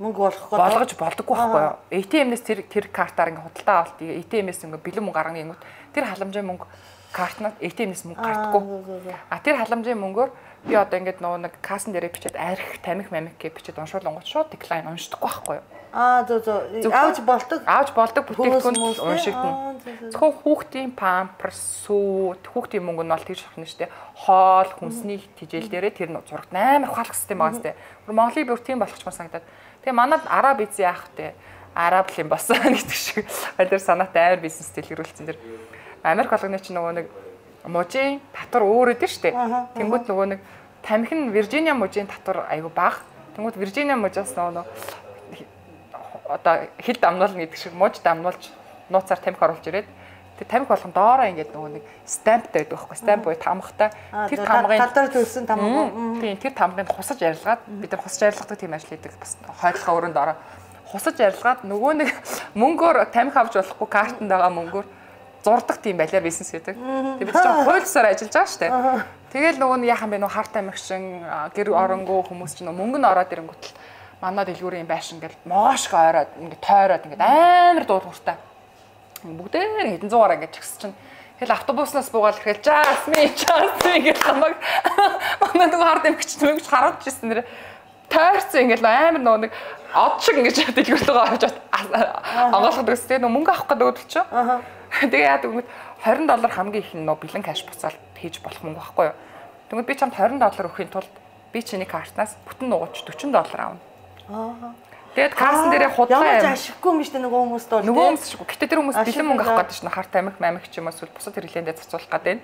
мөнгө болгох болгож болдоггүй байхгүй юу? эй ти эм-нээс тэр тэр картаар ингээ худалдаа авалт эй ти эм-нээс ингээ бэлэн мөнгө гарганы юмуд тэр халамжийн мөнгө картнаас эй ти эм-нээс мөнгө гардаггүй. А тэр халамжийн мөнгөөр би одоо ингээд нөгөө нэг кассан дээрээ бичээд арх тамхи мамик гэж бичээд уншуулгууд шууд деклайн уншдаггүй байхгүй юу? Аа зөө зөө аавч болдог. Аавч болдог бүтээгдэхүүн уншигдана. Зөвхөн хүүхдийн памперс, сүү, хүүхдийн мөнгө нь бол тэгж авах нь шүү дээ. Хоол, хүнсний тижэл дээрээ тэр зурагт амар ухаалах систем байгаа сте. Монголын бүр тийм болгочмаар санагдаад. Тэгээ манад араб эзэн яах вэ? Араб л юм болсон гэдэг шиг. Тэр санаатай амар бизнес дэлгэрүүлсэн дэр. Америк болгоны чинь нөгөө нэг мужийн татвар өөр өдөө шүү дээ. Тэнгүүд нөгөө нэг тамхи нь Виржиниа мужийн татвар айгу бага. Тэнгүүд Виржиниа мужаас нөгөө одоо хил дамнуулна гэдэг шиг мууж дамнуулж нууцаар тамхи оруулж ирээд тэр тамхи болгон доороо ингээд нөгөө нэг стамптай байдаг байхгүй стамп буюу тамгатай тэр тамгын гадар төлсөн тамга. Тийм тэр тамгыг хусаж арилгаад бид нар хусаж арилгадаг тийм ажил хийдэг бас хойдлохоо өрөөнд ороо хусаж арилгаад нөгөө нэг мөнгөөр тамхи авч болохгүй картанд байгаа мөнгөөр зурдаг тийм балиар бизнес хийдэг. Тэг бид чинь хуульсаар ажиллаж байгаа шүү дээ. Тэгэл нөгөө нь яахан бэ нөгөө хар тамхишин гэр оронгоо хүмүүс чинь мөнгө нь ороод ирэнгүүтэл манай дэлгүүрийн байшин ингээл моошго ойроод ингээд тойроод ингээд амар дуулууртай. Бүгдээр хэдэн зугаар ингээд чигс чинь тэгэл автобуснаас буугаад ирэхэл Жасмин Жасмин гэж хамаг манай нөгөө хард эмгч мөнгөч харуулж ирсэн нэр тойрцсон ингээд амар нөгөө нэг од шиг ингээд дэлгүүртөөгөө орж онгойлгодог гэсэн тэгээ мөнгө авах гэдэг үйл чинь. Тэгээ яадаг юм двадцать доллар хамгийн их нь нөгөө бэлэн кэш буцаал хийж болох мөнгө байхгүй юу. Тэгвэл би чамд двадцать доллар өгөхийн тулд би чиний картнаас бүтэн нуугч forty доллар авна. Аа. Тэгээд кассан дээрээ худлаа ямар ашиггүй юм шүү дээ нөгөө хүмүүст бол. Нөгөө хүмүүс шүү. Гэтэ тэр хүмүүс бэлэн мөнгө авах гэдэг чинь хар тамхи мамих ч юм уу эсвэл бусад хэрэглээндээ зарцуулах гэдэг.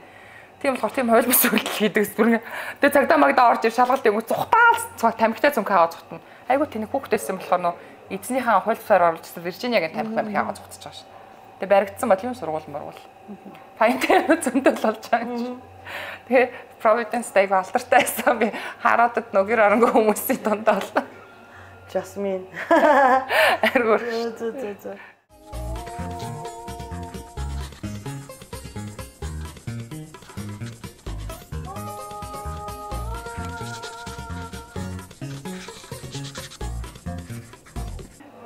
Тийм болохоор тийм хойлбос үйлдэл хийдэг зүрх. Тэгээд цагдаа магдаа орж ир шалгалт юм зүхтаал тамхитай зүнх аваад зүхтана. Айгу тэнийг хүүхдээсэн болохоор нөө эзнийхээ хойлбосоор оруулжсэн Виржиниагийн тамхи мамих аваад зүхтаж байгаа ш. Тэгээд баригдсан бол юм сургууль мөргүүл. Файнтэй зөндөл болж байгаа юм. Тэгээд Providence Day алдартай байсан би хараад нөгөр оронго хүмүүсийн дундаа боллоо. Жасмин. Аргуур. Зөө зөө зөө.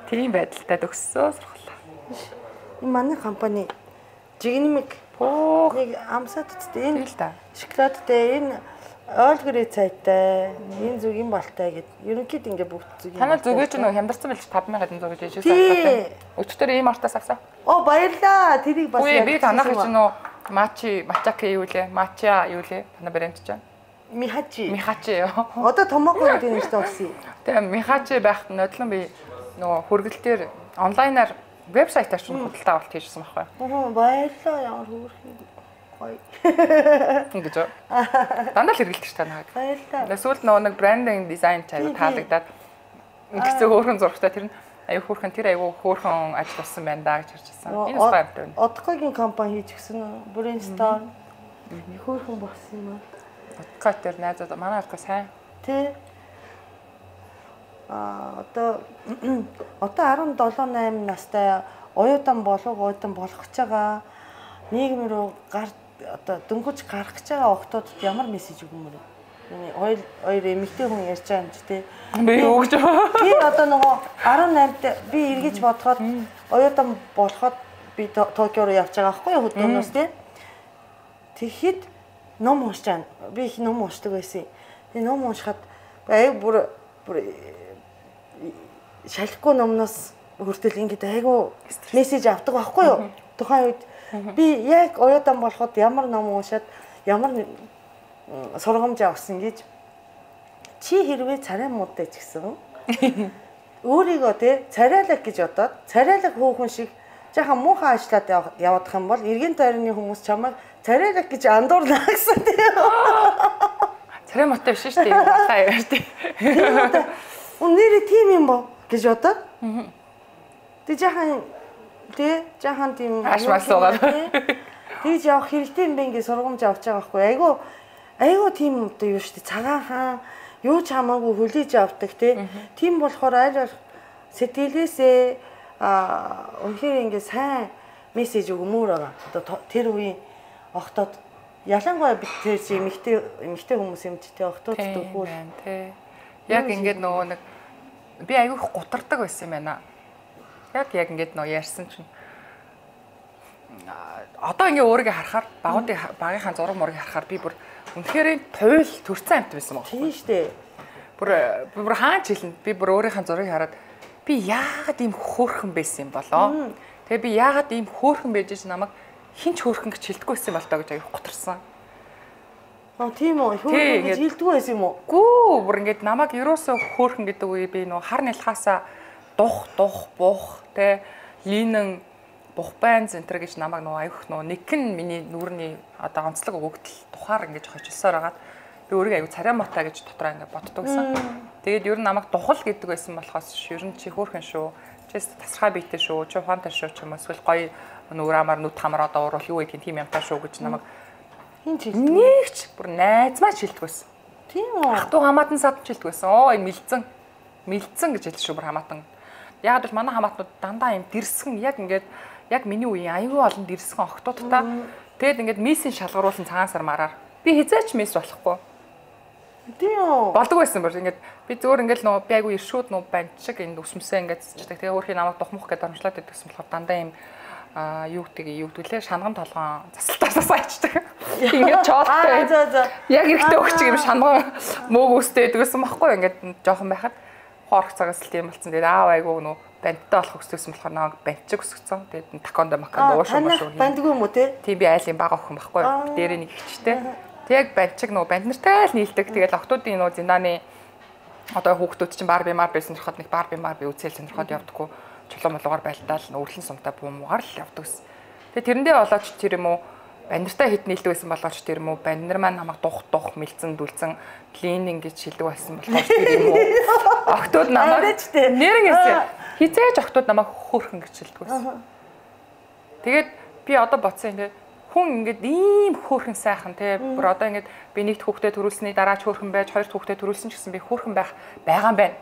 Тийм байдалтай төгссөн сургуулаа. Энэ манай компани жигнэмэг нэг амсаад үсттэй энэ шоколадтай энэ Ойлгорын цайтай, энэ зүг юм балтай гэд. Ерөнхийд ингээ бүгд зүг юм. Танай зүгэж нөгөө хямдарсан байлж тавд мянган хэдэн зүгэж ижиж авсан. Өчтөр ийм артаас авсан. Оо баярлаа. Тэрийг бас яг би танах гэж нөгөө мачи, мачаки юу лээ? Мача юу лээ? Танай брэнд чинь. Михачи. Михачи ёо. Одоо томоохон гэдэг нэртэй болсон. Тэгээ Михачи байхад нодлон би нөгөө хүргэлтээр онлайнаар вебсайтаар ч худалдаа авалт хийжсэн байхгүй. Аа баярлаа ямар хөөрхөн гоё. Ингэж үү? Дандаа л хэрэглэж ш танаа. Баярлаа. Эсвэл нөгөө нэг брендинг дизайн аягүй таалагдаад ингэсэн хөөрхөн зурагтай тэр нь аягүй хөөрхөн тэр аягүй хөөрхөн ажил болсон байна да гэж харчихсан. Энэ бас баяртай байна. Одкогийн компани хийж гисэн брейнстон хөөрхөн болсон юм аа. Одко тэр найзууд манай одко сайн. Тэ. А одоо одоо арван долоо найман настай оюутан болов оюутан болох гэж байгаа нийгэм рүү гар одоо дөнгөж гарах гэж байгаа охтуудад ямар мессеж өгмөр вэ? Хоёр хоёр эмэгтэй хүн ярьж байгаа юм чи тэ. Би өгч байгаа. Би одоо нөгөө арван наймд би эргэж бодоход оюутан болоход би Токио руу явж байгаа байхгүй юу хөдөлгөөнөөс тэ. Тэгэхэд ном уншиж байгаа. Би их ном уншдаг байсан. Тэгээ ном уншихад аяг бүр бүр шалахгүй номноос хүртэл ингэж айгу мессеж авдаг байхгүй юу? Тухайн үед би яг оюутан болоход ямар ном уншаад ямар сургамж авсан гэж чи хэрвээ царай муудтай ч гэсэн өөрийгөө те царайлаг гэж бодоод царайлаг хөөхөн шиг жаахан муухай ажиллаад явах юм бол эргэн тойрны хүмүүс чамайг царайлаг гэж андуурна гэсэн тийм. Царай муутай биш шүү дээ. Муухай яваар тийм. Үнээрээ тийм юм бо гэж бодоод. Тэг жаахан тий жаахан тийм ашмаас суугаад. Тэгж явах хэрэгтэй юм бэ ингээ сургамж авч байгаа байхгүй. Айгу айгу тийм одоо юу шүү дээ. Цагаан хаан юу ч хамаагүй хүлээж авдаг тий. Тийм болохоор аль сэтгэлээсээ а өнөхөр ингээ сайн мессеж өгмөр байгаа. Одоо тэр үеийн охтод ялангуяа бид тэр чи эмэгтэй эмэгтэй хүмүүс юм чи тий охтод дөхвөл тий. Яг ингээд нөгөө нэг би аягүй их гутардаг байсан юм байна. Яг яг ингээд нөгөө ярьсан чинь одоо ингээ өөрийгөө харахаар багуудын багийнхаа зураг мурыг харахаар би бүр үнэхээр туйл төрцөн амт байсан баг. Тийм шүү дээ. Бүр бүр хаач хэлнэ. Би бүр өөрийнхөө зургийг хараад би яагаад ийм хөөрхөн байсан юм болоо. Тэгээ би яагаад ийм хөөрхөн байж ич намайг хинч хөөрхөн гэж хэлдэггүй байсан юм бол тоо гэж аягүй гутарсан. Аа тийм үү. Хөөрхөн гэж хэлдэггүй байсан юм уу? Гүү бүр ингээд намайг ерөөсөө хөөрхөн гэдэг үе би нөө хар нялхаасаа дух дух бух тэ линэн бух байн центр гэж намайг нөө аяг нөө нэгэн миний нүүрний одоо онцлог өгөгдөл тухаар ингэж хожилсоор хагаад би өөрийгөө аяг царай мотой гэж дотроо ингэ боддог гэсэн. Тэгээд ер нь намайг духал гэдэг байсан болохоос ер нь чи хөөрхөн шүү. Чи тасархай биетэй шүү. Чи ухаантай шүү ч юм уу эсвэл гоё нүүр амар нүд хамраа доорвол юу гэх юм тийм юмтай шүү гэж намайг хин ч нэгч бүр найзмаа шилдэг байсан. Тийм үү. Ах トゥ хамаатан сад шилдэг байсан. Оо энэ мэлцэн. Мэлцэн гэж хэлсэн шүү бүр хамаатан. Яг л манай хамаатнууд дандаа юм дэрсгэн яг ингээд яг миний үеийн аюул олон дэрсгэн охтуудтай. Тэгэд ингээд миссийн шалгаруулсан цагаан мараар би хизээч мисс болохгүй. Тийм үү. Болдог байсан бүр ингээд би зөөр ингээд нөө би айгу иршүүд нөө банчиг энэ өсмөсөө ингээд цэцдэг. Тэгээ өөрхийн намайг духмах гэдэг оромжлоод идэгсэн болохоор дандаа юм а юу гэдгийг юу гэдгэлээ шанган толгоон засалтаасаа сайчдаг. Ингээд чоолтой. За за. Яг эрэхтэй өгч юм шанган мөөг өстэй гэдэгсэн багхгүй ингээд жоохон байхад хоорох цагаас л тийм болсон. Тэгээд аав айгуу нөө бандтай болох өссөн болохоор намайг банчиг өсгсөн. Тэгээд такондо макондо ууш юм шүү. Бандгүй юм уу те? Тийм би айлын бага охин багхгүй. Дээрээ нэг ихчтэй. Тэг яг банчиг нөө банд нартай л нийлдэг. Тэгээд охтуудын нөө зиндааны одоо хүүхдүүд чинь бар бимар байсан төрхөд нэг бар бимар би үзэл сонирхоод явдаггүй. Чулуун молгоор байлдаал нөөрлөн сумтай буумгаар л явдаг ус. Тэгээ тэрэндээ болооч тэр юм уу бандтай хит нийлдэг байсан болооч тэр юм уу банд нар маань намайг дух дух мэлцэн дүлцэн клининг гэж хэлдэг байсан болооч тэр юм уу охтууд намайг нэрнгээсээ хизээж охтууд намайг хөөрхөн гэж хэлдэг байсан. Тэгээд би одоо бодсон юм хүн ингээд ийм хөөрхөн сайхан те бүр одоо ингээд би нэгд хүүхдээ төрүүлсэний дараа ч хөөрхөн байж хоёрт хүүхдээ төрүүлсэн ч гэсэн би хөөрхөн байх байгаа юм байна.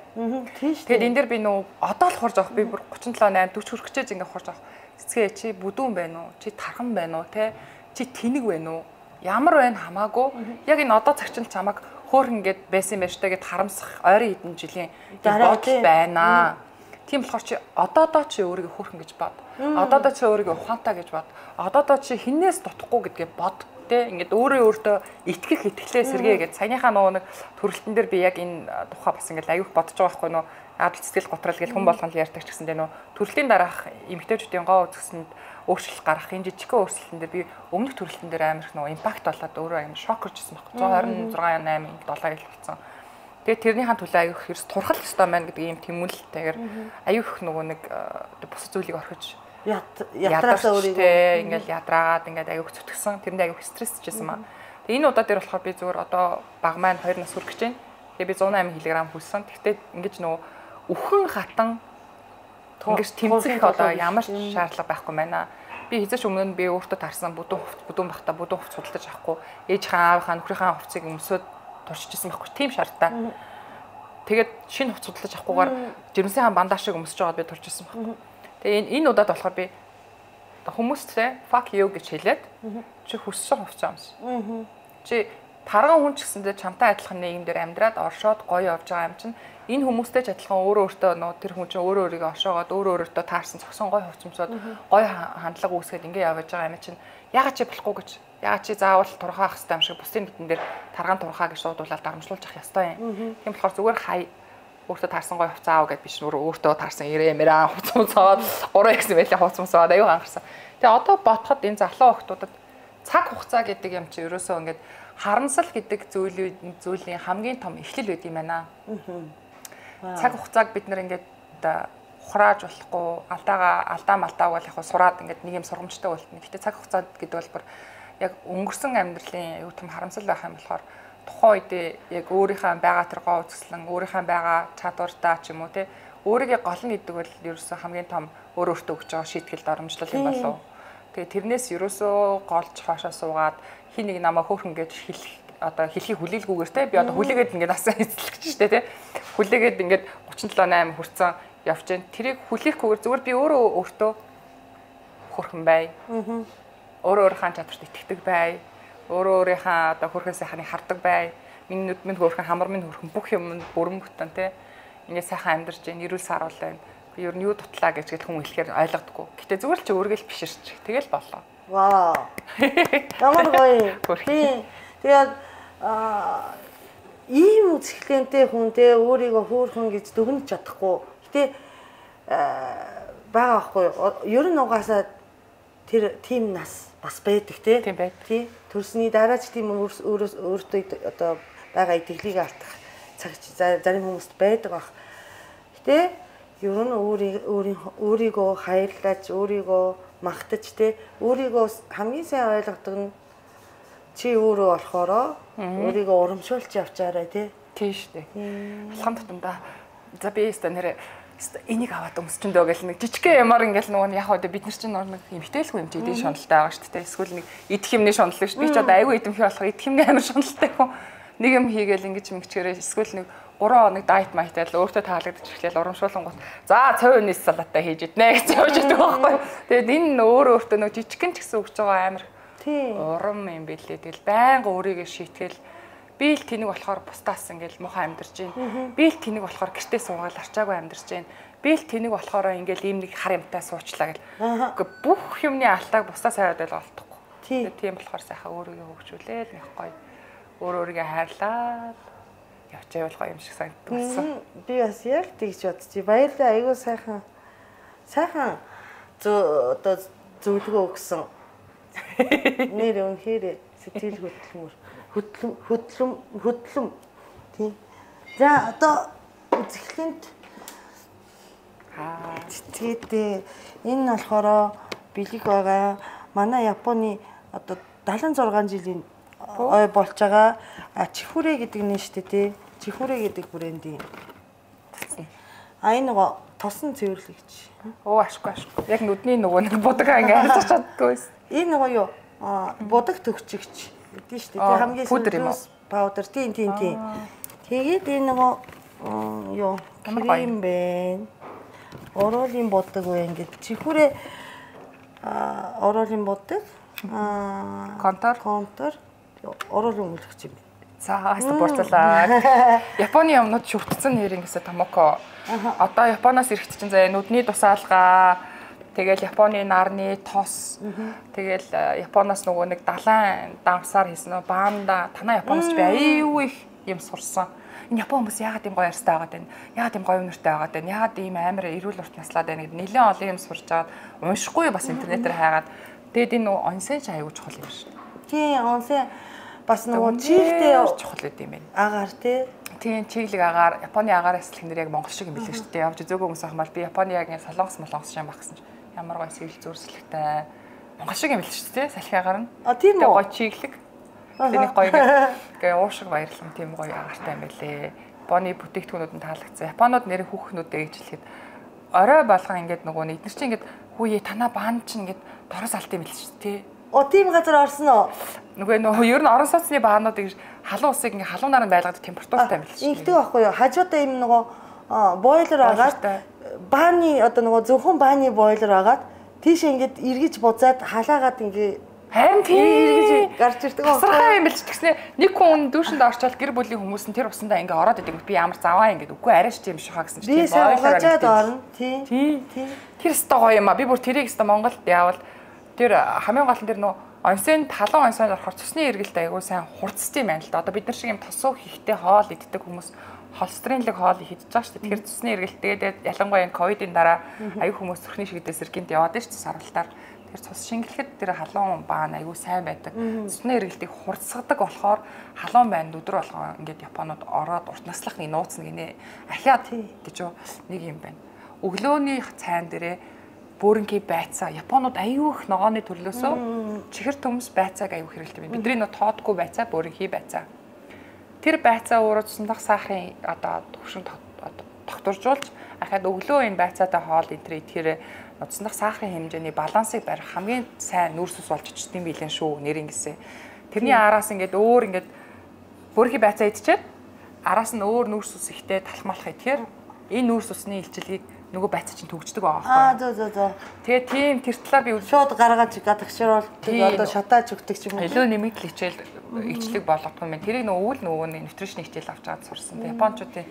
Тийм шүү. Тэгээд энэ дэр би нөө одоо л хурж авах би бүр тридцать седем восемь forty хүрэх гэж ингээд хурж авах. Цэцгээ чи бүдүүн байна уу? Чи тархан байна уу те? Чи тэнэг байна уу? Ямар байна хамаагүй. Яг энэ одоо цагт л чамаг хөөрхөн ингээд байсан байж та гэд харамсах ойрын хэдэн жилийн бодол байна. Тийм болохоор чи одоодоо чи өөрийгөө хөөрхөн гэж бод. Одоодоо чи өөрийгөө ухаантай гэж бод. Одоодоо чи хинээс дутхгүй гэдгээ бод. те ингээд өөрөө өөртөө итгэх итгэлээ сэргээгээд саяныхаа нөгөө нэг төрөлтөн дээр би яг энэ тухай бас ингээд аюух бодож байгаа байхгүй нөө адал цэцгэл готрал гэж хүн болгон л ярьдаг ч гэсэндээ нөө төрөлтийн дараах эмэгтэйчүүдийн гоо үзэсэнд өөрчлөлт гарах энэ жижигхэн өөрчлөлтөн дээр би өмнөх төрөлтөн дээр амар их нөгөө импакт болоод өөрөө амар шок иржсэн байхгүй one twenty-six eight seven жил болсон. Тэгээд тэрнийхэн төлөө аюух хэрс турхал ёстой маань гэдэг ийм тэмүүлэлтэйгээр аюух нөгөө нэг бус зүйлийг орхиж ятраасаа өөрийгөө ингээл ядраагаад ингээд аюух зүтгэсэн тэрэнд аюух стрессчсэн маа. Тэгээ энэ удаа дээр болохоор би зүгээр одоо баг маань two нас хүрэх гэж байна. Тэгээ би one oh eight кг хүссэн. Гэхдээ ингэж нөгөө үхэн хатан ингэж тэмцэх одоо ямар ч шаардлага байхгүй байна. Би хэзээ ч өмнө нь би өөртөө тарсан бүдүүн хувц бүдүүн бахта бүдүүн хувц судалдаж авахгүй ээжийнхээ аавынхаа нөхрийнхээ хувцыг өмсөд туршижсэн байхгүй тийм шаардтай. Тэгээд шинэ хувц судалдаж авахгүйгээр жирэмсийн бандаж шиг өмсөж байгаад би туршижсэн байхгүй. Тэгээ энэ удаад болохоор би хүмүүстэй fuck you гэж хэлээд чи хүссэн хувцас өмс. Чи тарган хүн ч гэсэндээ чамтай адилхан нийгэм дээр амьдраад оршоод гоё явж байгаа юм чинь энэ хүмүүстэй ч адилхан өөрөө өөртөө нөө тэр хүн чинь өөрөө өөрийгөө оршоогоод өөрөө өөртөө таарсан цогсон гоё хувцсмсоод гоё хандлага үүсгээд ингэ явж байгаа юм чинь ягаад чи болохгүй гэж ягаад чи заавал турхаах хэрэгтэй юм шиг бусдын нүдэн дээр тарган турхаа гэж дуудуулаад дарамжлуулж явах ёстой юм. Тийм болохоор зүгээр хай өөртөө таарсан гоё хувцас аав гэд биш өөртөө таарсан ирээ мэрээ хувцсмсоод three x мэлээ хувцсмсоод аюу анхаарсан. Тэгээ одоо бодоход энэ залуу охтуудад цаг хугацаа гэдэг юм чи ерөөсөө ингээд харамсал гэдэг зүйлүүд зүйлийн хамгийн том эхлэл байд юм байна. Цаг хугацааг бид нэр ингээд ухрааж болохгүй алдаага алдаа малтаа бол яг сураад ингээд нэг юм сургамжтай болтно. Гэхдээ цаг хугацаа гэдэг бол бүр яг өнгөрсөн амьдралын аюу тум харамсал байх юм болохоор тухайн үедээ яг өөрийнхөө байгаа тэр гоо үзэсгэлэн өөрийнхөө байгаа чадвартаа ч юм уу те өөрийгөө голно гэдэг бол ерөөсөө хамгийн том өөр өөртөө өгч байгаа шийтгэл дарамжлал юм болов. Тэгээ тэрнээс ерөөсөө голж хоошоо суугаад хин нэг намаа хөөхөн гэж хэлэх одоо хэлхийг хүлээлгүйгээр те би одоо хүлээгээд ингээд асаа эзлэх гэж штэ те хүлээгээд ингээд thirty seven eight хүрсэн явж гэн тэрийг хүлээхгүйгээр зүгээр би өөрөө өөртөө хөрхөн бай. Өөрөө өөрийнхөө чадварт итгэдэг бай. Өөрөө өөрийнхөө одоо хөрхөн сайхныг хардаг бай. Миний нүд минь хөрхөн хамар минь хөрхөн бүх юм бүрэн бүтэн те ингээд сайхан амьдарч гэн эрүүл саруул байна. Би ер нь юу дутлаа гэж гэл хүн хэлэхээр ойлгодоггүй. Гэтэ зүгээр л чи өөргөө л биширч тэгэл болоо. Вау. Ямар гоё. Тийм. Тэгээд аа ийм үзэсгэлэнтэй хүнтэй өөрийгөө хөөрхөн гэж дүгнэж чадахгүй. Гэтэ байгаа байхгүй. Ер нь угаасаа тэр тийм нас бас байдаг те. Тийм байд. Тий. Төрсний дараа ч тийм өөрөөс өөртөө одоо байгаа итгэлийг алдах цаг зарим хүмүүст байдаг бах. Гэтэ ер нь өөрийн өөрийгөө хайрлаж, өөрийгөө магтаж те өөрийгөө хамгийн сайн ойлгодог нь чи өөрөө болохоро өөрийгөө урамшуулж явчаарай те. Тийм шүү дээ. Алхам тутамдаа за би өстө нэрээ энийг аваад өмсчөндөө гэл нэг жижигхэн ямар ингээл нөгөө яг одоо бид нар чинь нэг эмхтэлгүй юм чи эдийн шуналтай байгаа шүү дээ. Эсвэл нэг идэх юмны шунал шүү. Би ч одоо аюу идэмхий болох идэх юмны амар шуналтай хүн. Нэг юм хийгээл ингэж мэгчгэрээ эсвэл нэг three хоног дайет майтал өөртөө таалагдчих эхлээл урамшуулан гот. За цав өнөс салатаа хийж иднэ гэж явж байдаг байхгүй. Тэгээд энэ өөр өөртөө нэг жижигхэн ч гэсэн өгч байгаа амар урам юм бэлээ. Тэгэл байнга өөрийгөө шийтгэл би л тэнэг болохоор бусдаас ингээл муухай амьдарч байна. Би л тэнэг болохоор гэртээ суугаад арчаагүй амьдарч байна. Би л тэнэг болохоор ингээл ийм нэг хар юмтай суучлаа гэл. Гэхдээ бүх юмны алтааг бусдаас хайгаад байл олдохгүй. Тийм болохоор сайхан өөрийгөө хөгжүүлээл нэг гоё. Өөр өөрийгөө хайрлаад явж явах юм шиг санагдсан болсон. Би бас яг тэгж бодчих. Баярлалаа. Айгуу сайхан сайхан зөө одоо зөвлөгөө өгсөн. Нэр үнхээр сэтгэл хөдлөмөр хөдлөм хөдлөм хөдлөм тийм. За одоо үзэсгэлэнт аа тэгээд энэ болохоор бэлэг байгаа. Манай Японы одоо seventy-six жилийн ой болж байгаа чихүрэ гэдэг нэ штэ тий. Чихүрэ гэдэг брендийн. А энэ нөгөө тосон цэвэрлэгч. Оо ашгүй ашгүй. Яг нүдний нөгөө нэг будагаа ингээ харж чаддгүйс. Энэ нөгөө юу будаг төгчгч гэдэг штэ тий. Хамгийн сүүл паудер тийм тийм тийм. Тэгээд энэ нөгөө юу крем бэ. Ороолын будаг вэ ингээд чихүрэ а ороолын будаг а контор контор ороолын үлгч юм. За хаста бурцлаа. Японы юмнууд шүртцэн нэр ингэсэ томоко. Одоо Японоос ирэхэд чинь заа нүдний тусаалгаа Тэгэл Японы нарны тос. Тэгэл Японоос нөгөө нэг далайн давсаар хийсэн нөө баанда танаа Японоос би аюу их юм сурсан. Энэ Япон хүмүүс яагаад ийм гоё ярьстай байгаад байна? Яагаад ийм гоё өнөртэй байгаад байна? Яагаад ийм амар эрүүл урт наслаад байна гэдэг нэлээд олон юм сурч аваад уншихгүй бас интернетээр хайгаад тэгээд энэ нөгөө онсен ч аюу чухал юм шиг. Тийм онсен бас нөгөө чиглэлтэй чухал гэдэг юм байна. Агаар тий. Тийм чиглэг агаар Японы агаар эслэх нэр яг монгол шиг юм билээ шүү дээ. Явж зөөгөө хүмүүс ахмал би Японы яг ингэ солонгос молонгос юм багсан чинь ямар гоё сэтэл зүрслэгтэй монгол шиг юм билээ шүү дээ. Салхи агаар нь. А тийм үү. Гоё чиглэг. Тэнийг гоё гээ уушиг баярлам тийм гоё агаартай юм байлээ. Японы бүтээгдэхүүнүүд нь таалагдсан. Японууд нэр хүүхнүүдээ гэж хэлэхэд орой болгон ингээд нөгөө нэг эдгээр чинь ингээд хүүе танаа баанд чинь ингээд дороос алт юм билээ шүү дээ. О тийм газар орсон уу? Нөгөө нөгөө ер нь орон сууцны баануудыг халуун усыг ингээ халуун наранд байлгадаг температуртай юм билээ шүү. Ингэдэг байхгүй юу? Хажуудаа юм нөгөө бойлер агаад бааны одоо нөгөө зөвхөн бааны бойлер агаад тийш ингээд эргэж бузаад халаагаад ингээ харин тийм эргэж гарч ирдэг байхгүй юу? Тасархай юм билж тэгснэ нэг хүн дүүшинд орчвол гэр бүлийн хүмүүс нь тэр усандаа ингээ ороод идэг би ямар заваа ингээд үгүй арайш тийм шахаа гэсэн чинь тийм бойлер орно. Тийм. Тийм. Тэр өстой гоё юм а. Би бүр тэрийг өстой Монголд явал тэр хамгийн гол нь тэр нөө онсын талан онсонд орохоор цусны эргэлт айгуу сайн хурцтай юм байна л да. Одоо бид нар шиг юм тосуу хийхтэй хоол иддэг хүмүүс холестеринлэг хоол идэж байгаа шүү дээ. Тэгэхээр цусны эргэлт тэгээд ялангуяа энэ ковидын дараа аюу хүмүүс цүрхний шигдээс эргэнт яваад шүү дээ сарвалтаар. Тэр цус шингэлэхэд тэр халуун баан аюу сайн байдаг. Цусны эргэлтийг хурцсгадаг болохоор халуун байнд өдөр болгоо ингээд Японууд ороод урт наслахны нууцна гинэ. Ахиад гэж нэг юм байна. Өглөөний цайн дээрээ бөөрөнхий байцаа Японууд аюу их ногооны төрлөөсөө чихэр төмс байцааг аюу хэрэгэлдэг байна. Бидний нөө тоодгүй байцаа бөөрөнхий байцаа. Тэр байцаа өөрөө цуснах сахарын одоо төвшин тогтворжуулж ахаад өглөө энэ байцаатай хоол энтэр идэхээр цуснах сахарын хэмжээний балансыг барих хамгийн сайн нүүрс ус болж очтдсан билэн шүү нэр ингэсэн. Тэрний араас ингээд өөр ингээд бөөрөнхий байцаа идчихэд араас нь өөр нүүрс ус ихтэй талхмалах идэхээр энэ нүүрс усны илчилгээг нөгөө байцаа чинь төгждөг байгаа байхгүй. Аа зөө зөө зөө. Тэгээ тийм тэр талаар би шууд гаргаж гадагшруулдаг одоо шатааж өгдөг ч юм уу. Илүү нэмэгдэл хичээл ичлэг болгодог юм байна. Тэрийг нөгөө үйл нөгөө нутришн хичээл авч чад сурсан. Японочдын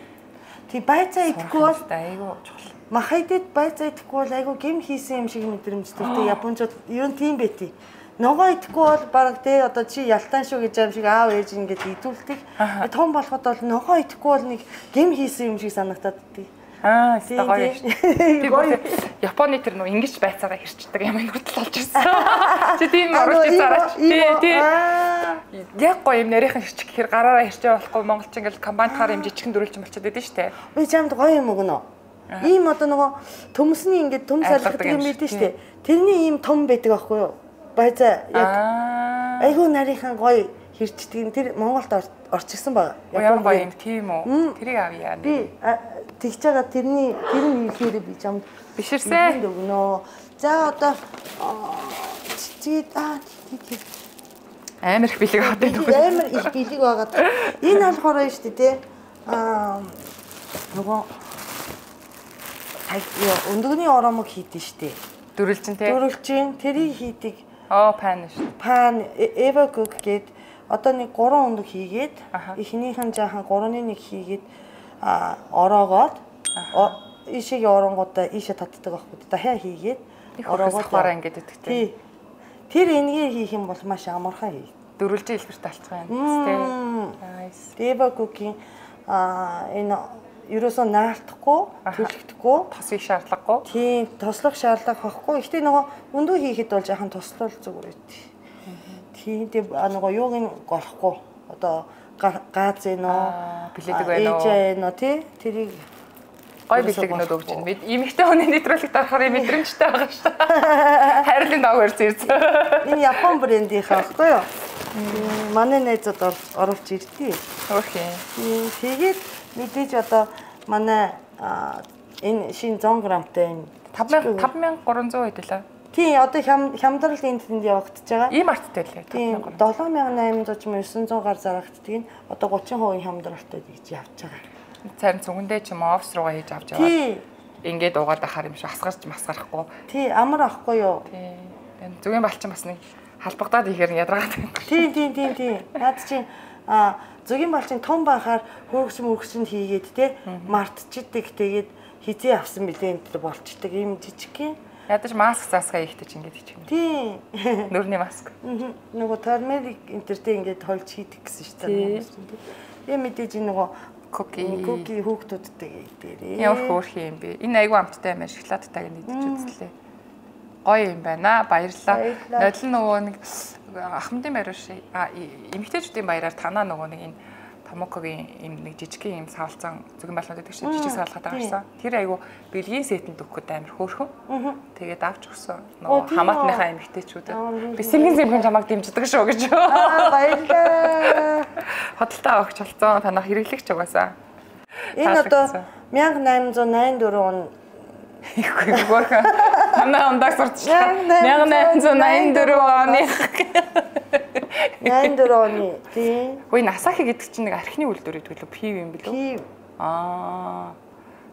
тий байцаа идэхгүй бол айгуу чухал. Махайдэд байцаа идэхгүй бол айгуу гим хийсэн юм шиг мэдрэмжтэй. Тий Японочд ер нь тийм байтий. Ногоо идэхгүй бол баг тий одоо чи ялтаан шүү гэж юм шиг аав ээж ингээд идүүлдэг. Том болоход бол ногоо идэхгүй бол нэг гим хийсэн юм шиг санагдаад тий. Аа, өстой гоё шүү. Тэр Японы тэр нөө ингэж байцаагаа хэрчдэг юм нүртэл олж ирсэн. Чи тийм оруулж ирсараач. Тий, тий. Яг гоё юм нарийнхан хэрчих гэхээр гараараа хэрчээ болохгүй монголч ингээл комбайнтаар юм жижигхэн дөрүүлж болчиход байдаг шүү дээ. Би чамд гоё юм өгнө. Ийм одоо нөгөө төмсний ингээд төмс алгадаг юм байдаг шүү дээ. Тэрний ийм том байдаг аахгүй юу? Байцаа яг айгуу нарийнхан гоё хэрчдэг. Тэр Монголд орчихсон байгаа. Япон гоё юм тийм үү? Тэрийг авъя. Би тэгж байгаа тэрний тэр нь хийхээр би чамд биширсэн өгнө. За одоо чи аа тий амар их бэлэг аваад байна. Амар их бэлэг байгаад. Энэ болохоор нь шүү дээ тий. Аа нөгөө өндөгний оромог хийдэж шүү дээ. Дөрүлжин тий. Дөрүлжин тэрийг хийдэг. Оо пан шүү. Пан Eva Cook гээд одоо нэг гурван өндөг хийгээд эхнийхэн жаахан гурваны нэг хийгээд а ороогоод ишиг оронгуудаа ийшээ татдаг байхгүй да хаа хийгээд ороогоод хараа ингээд идэх тий. Тэр энэгээр хийх юм бол маш амархан хий. Дөрвөлжин илбэрт алцах байна. Тий. Nice. Eva Cook-ийн а энэ ерөөсөө наалтахгүй, төлөгдөхгүй, тосыг шаардлагагүй. Тийм, тослох шаардлага байхгүй. Гэхдээ нөгөө өндөө хийхэд бол жаахан тослол зүгээр үү. Тийм, тийм нөгөө юуг нь голохгүй. Одоо гааз ээ нөө, биледэг байна уу? Ээж нөө тий. Тэрийг гой билегнүүд өгч байна. Бид эмэгтэй хүний нэвтрүүлэгт орохоор мэдрэмжтэй байгаа шүү дээ. Хайрлын дог өрц ирсэн. Энэ Япон брендийнхаа байхгүй юу? Манай найзууд оруулж ирдээ. Окей. Тэгээд мэдээж одоо манай энэ шинэ сто грамтай энэ тавь мянга гурван зуун хэдэлээ. Тий, одоо хямдрал энэ тэнд явагдаж байгаа. Ийм арттай лээ. Тийм, долоон мянган айман зуун девятьсот гар зарагддаг нь одоо тридцать процент хямдралтай гэж явж байгаа. Царин цүгэндээ ч юм офс руугаа хийж авч яваад. Тий. Ингээд угаад ахаар юм шиг асгарч масгарахгүй. Тий, амар ахгүй юу? Тий. Зүгийн балчин бас нэг халбагдаад ихээр ядаргаад байна. Тий, тий, тий, тий. Наад чинь а зүгийн балчин том бахаар хөргөс мөргөсөнд хийгээд те мартчихдээ тэгээд хизээ авсан билээ энэ болчдөг юм жижиг юм. Ядаж маск заасгаа ихтэй ч ингэж хийчих юм. Тийм. Нүрний маск. Нөгөө турмерик интертэй ингэж холж хийдэг гэсэн шүү дээ. Тийм мэдээж нөгөө Коки. Коки хүүхдүүдтэй дээрээ. Ямар хөөрхөн юм бэ? Энэ айгүй амттай юм шиг шоколадтайг нэгдэж үзлээ. Гоё юм байна. Баярлалаа. Нодлон нөгөө нэг ахмадын байр шиг эмэгтэйчүүдийн баяраар танаа нөгөө нэг энэ Томокогийн юм нэг жижигхэн юм саалцсан зүгэн байлнууд гэдэг чинь жижиг саалгатай гарсан. Тэр айгүй бэлгийн сетэнд өгөхөд амар хөөрхөн. Тэгээд авч өгсөн. Нөгөө хамаатныхаа эмэгтэйчүүдэд. Би сэргэн сэргэн чамайг дэмждэг шүү гэж. Аа баярлалаа. Хотолтой огч болсон. Танах хэрэглэгч угаасаа. Энэ одоо мянга найман зуун найман дөрвөн он ихгүй гөрхөн. Танаа ондаа сурчлаа. мянга найман зуун найман дөрвөн оны. найман дөрвөн оны тийм. Хөөе Насахи гэдэг чинь нэг архины үйлдвэр гэдэг лөө пив юм билүү? Пив. Аа.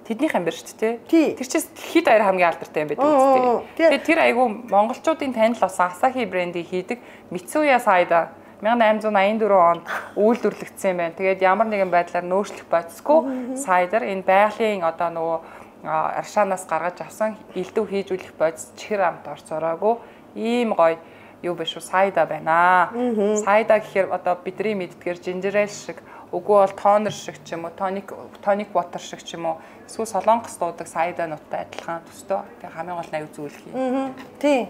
Тэднийх юм байна шүү дээ. Тий. Тэр чинь дэлхийд даяар хамгийн алдартай юм байдаг үстэй. Тэгээд тэр айгүй монголчуудын танил болсон Asahi брендийг хийдэг Mitsuya Cider мянга найман зуун найман дөрвөн онд үйлдвэрлэгдсэн юм байна. Тэгээд ямар нэгэн байдлаар нөөцлөх бодисгүй cider энэ байгалийн одоо нөгөө аршаанаас гаргаж авсан элдв хийж үлэх бодис чихэр амт орцороогүй ийм гоё юу биш үү cider байна. Cider гэхээр одоо бидний мэддгээр ginger ale шиг үгүй бол тонер шиг ч юм уу tonic tonic water шиг ч юм уу эсвэл солонгос дуудаг cider нуттай адилхан төстэй. Тэгээ хамгийн гол нь аюу зүйлх юм. Тийм.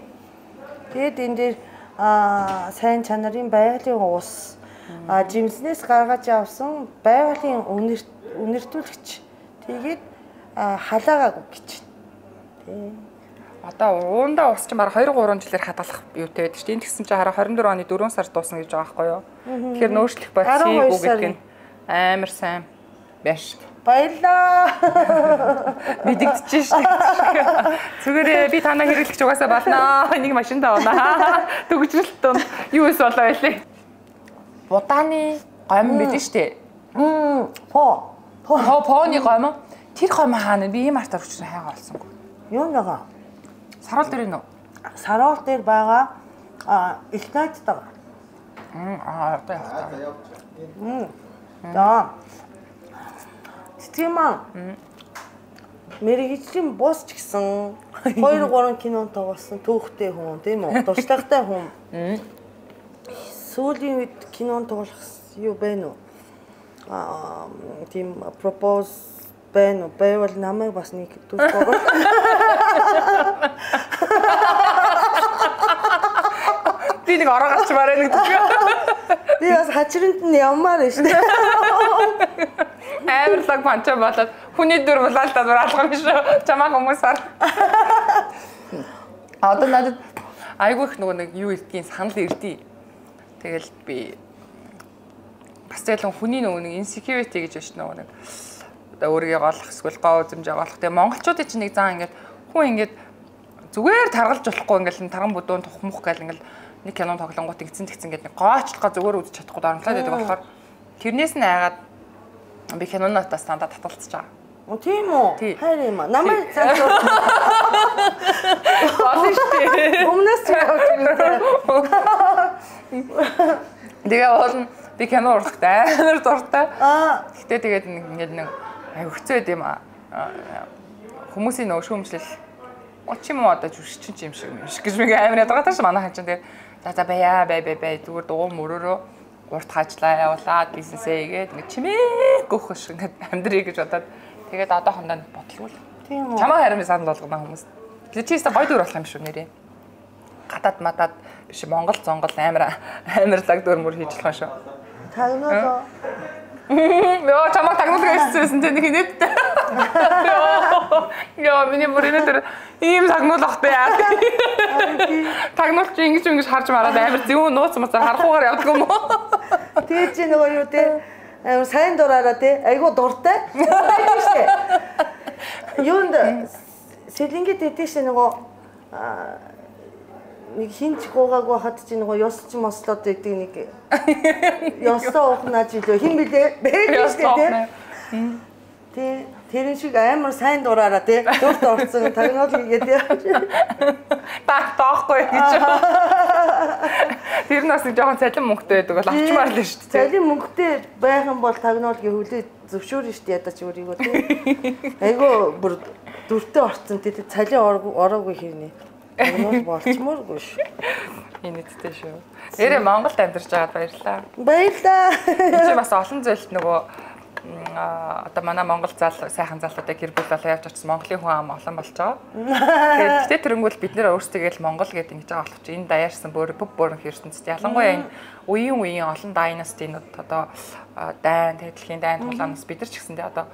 Тэгээд энэ дээр а сайн чанарын байгалийн ус а жимснээс гаргаж авсан байгалийн үнэртүүлэгч тэгээд халаагаа гэж. Тийм. Одоо уундаа ус чинь бараг хоёр гурван жилээр хадгалах юутай байдаг шүү дээ. Энд гэсэн чинь хараа двадцать дөрвөн оны дөрвөн сард дуусна гэж байгаа байхгүй юу? Тэгэхээр нөөцлөх бодисыг гэдэг нь амар сайн байна. Баярлаа. Мэдэгдэж шүү дээ. Зүгээр би танаа хэрэглэж угаасаа болно. Энийг машин тавнаа. Төгжрэлт тун юу эс болоо байлээ. Будааны гомн мэдэн шүү дээ. Мм. По. По поны гомн. Тэр гомн хаана би ийм артаар өчнө хайгаа олсонгүй. Юу нэгаа? Саруул дээр нөө. Саруул дээр байгаа а Ignite байгаа. Мм аа одоо явах. Мм. За. Стимаа. Мэргэжлийн бус ч гэсэн хоёр гурван кинонд тоглосон түүхтэй хүн тийм үү? Дуртайтай хүн. Сүүлийн үед кинонд тоглох юу байна уу? Аа тийм пропоз байна уу? Байвал намайг бас нэг түүх тоглох. Би нэг ороо гарч мараа нэг түүх. Би бас хачиранд нь явмаар байна шүү дээ. Амарлаг панча болоод хүний дөр булаалтаа зур алгам шүү. Чамаа хүмүүсээр. Одоо надад айгүй их нөгөө нэг юу илтгийн санал ирдий. Тэгэл би бас ялан хүний нөгөө нэг insecurity гэж байна нөгөө нэг одоо өөрийгөө голох эсвэл гоо үзэмж голох. Тэгээ монголчуудын чинь нэг зан ингээд хүн ингээд зүгээр таргалж болохгүй ингээд тарган бүдүүн тухмах гэл ингээд нэг кино тоглонгууд ингэсэн тэгсэн гэдэг нэг гоочлохоо зүгээр үзэж чадахгүй дарамтлаад байдаг болохоор тэрнээс нь айгаад би кинонотаа стандартад татгалцаж байгаа. Оо тийм үү? Хайр юм аа. Намайг цааш болно шүү дээ. Өмнөөс ч явж байгаа. Тэгээ болно. Би кино урлахт амар дуртай. Аа. Гэтэ тэгээд ингээд нэг аюу хэцүү байд юм аа. Хүмүүсийн нөө шүүмжлэл оч юм уу одоо жүшчин юм шиг юм шиг гэж би амар ядгатай ш манай хачин тэгээд за за бая бай бай бай зүгээр дуу мөрөөрөө урт хажлаа явуулаад бизнесээ игээд нэг чимээ гөх шиг ингээд амьдрий гэж бодоод тэгээд одоохондоо бодлоо. Тийм үү. Чамаа харин санал болгоно хүмүүс. Тэгээд чи өөртөө гоё дүр болох юм шүү нэрээ. Гадаад матаад биш Монгол зонгол амар амарлаг дүр мөр хийж болох шүү. Тагнаа. Яа чамаа тагнуулах гэсэн чинь нэг нэттэй. Яа миний бүрийн дээр ийм тагнуулахтай яа. Тагнуулч ингэж ингэж харж мараад амар зөв нууц мацаар харахуугаар явдаг юм уу? Тэгээ чи нөгөө юу те амар сайн дураараа те айгуу дуртай. Тийм штэ. Юунд сэлингэд идэш нөгөө нэг хинч гуугаагүй хат чи нөгөө ёсч мослоод байдаг нэг ёсоо ухнаа жилөө хин билээ бэж штэ те. Тэ тэрэн шиг амар сайн дураараа те дурт орсон тагнуул хийгээд таа тоохгүй гэж. Тэр нас нэг жоохон цалин мөнгөтэй байдаг бол авчмаар л шүү дээ. Цалин мөнгөтэй байх юм бол тагнуулгийн хөлөө зөвшөөрнө шүү дээ ядаж өөрийгөө те. Айгу бүр дүртэй орцсон тэгээд цалин ороогүй хэрнээ. Өнөө болчмооргүй шүү. Инээдтэй шүү. Нэрээ Монголд амьдарч байгаад баярлалаа. Баярлалаа. Чи бас олон зүйлд нөгөө одоо манай Монгол зал сайхан залуудаа гэр бүл болоо явж очсон Монголын хүн ам олон болж байгаа. Тэгээд гэтээ тэрнгүүл бид нэр өөрсдөө л Монгол гэдэг ингэж байгаа болох чи энэ даяарсан бүр бүв бүрэн ертөнцид ялангуяа энэ үеийн үеийн олон дайнастинууд одоо дайн тэдлийн дайн тулаанаас бид нар ч гэсэндээ одоо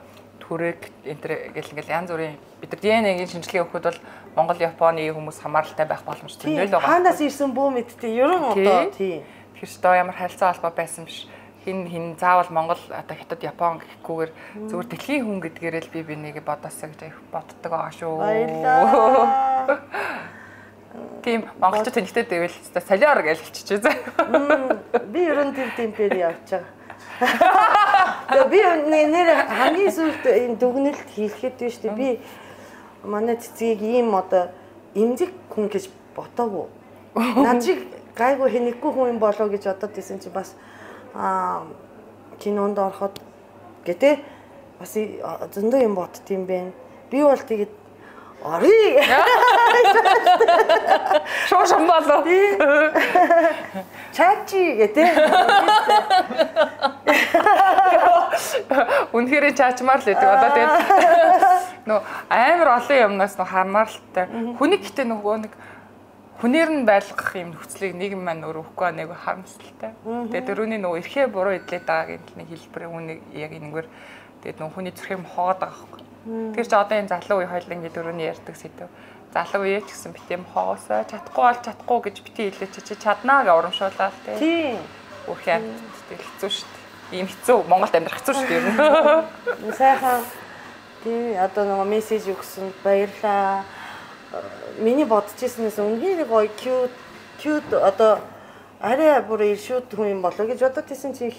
түрэг энтер гэл ингээл янз бүрийн бид нар ди эн эй-гийн шинжилгээ өгөхөд бол Монгол Японы хүмүүс хамааралтай байх боломжтой нөл байгаа. Хаанаас ирсэн бүү мэдтээ ерөн одоо тий. Тэгэхээр ч одоо ямар харилцаа холбоо байсан биш. Хин хин заавал Монгол одоо хятад Япон гэхгүйгээр зүгээр дэлхийн хүн гэдгээрээ л би бинийгээ бодосоо гэж боддог байгаа шүү. Баярлалаа. Тийм монголчууд тэнхтэй дэвэл солиор гэж хэлчихээ заа. Би ерөн тэр темпээр явж байгаа. Би нэр хамгийн сүүлд энэ дүгнэлт хийлгээд байна шүү дээ. Би манай цэцгийг ийм одоо эмзэг хүн гэж ботоогүй. Над шиг гайгүй хэнэггүй хүн юм болоо гэж бодоод исэн чи бас аа кинонд ороход гэтээ бас зөндөө юм бодд юм бэ. Би бол тэгээд орё. Шоо шамбалоо. Чачи гэдэг. Үнэхээр чаачмаар л гэдэг. Одоо тэгээд нөө амар олон юмнаас нөө хамааралтай. Хүний гэтээ нөгөө нэг хүнээр нь байлгах юм нөхцөлийг нийгэм маань өөр өгөхгүй нэг харамсалтай. Тэгээд дөрөвний нөгөө эрхээ буруу эдлээд байгаа гэдэг нэг хэлбэрийн үнийг яг энэгээр тэгээд нөгөө хүний зүрхийг хоод байгаа байхгүй. Тэр чи одоо энэ залуу үе хоёлын ингэ дөрөвний ярьдаг сэдв. Залуу үе ч гэсэн битэм хоосоо чадахгүй бол чадахгүй гэж бити хэлээ чи чи чаднаа гэж урамшуулаад тий. Тийм. Үхээ хэцүү шүү дээ. Ийм хэцүү Монголд амьдрах хэцүү шүү дээ. Сайхан тий одоо нөгөө мессеж өгсөн баярлаа. Миний бодчихснээс үнэхээр гоё cute cute одоо арай бүр иршүүд хүн юм болоо гэж бодоод байсан чи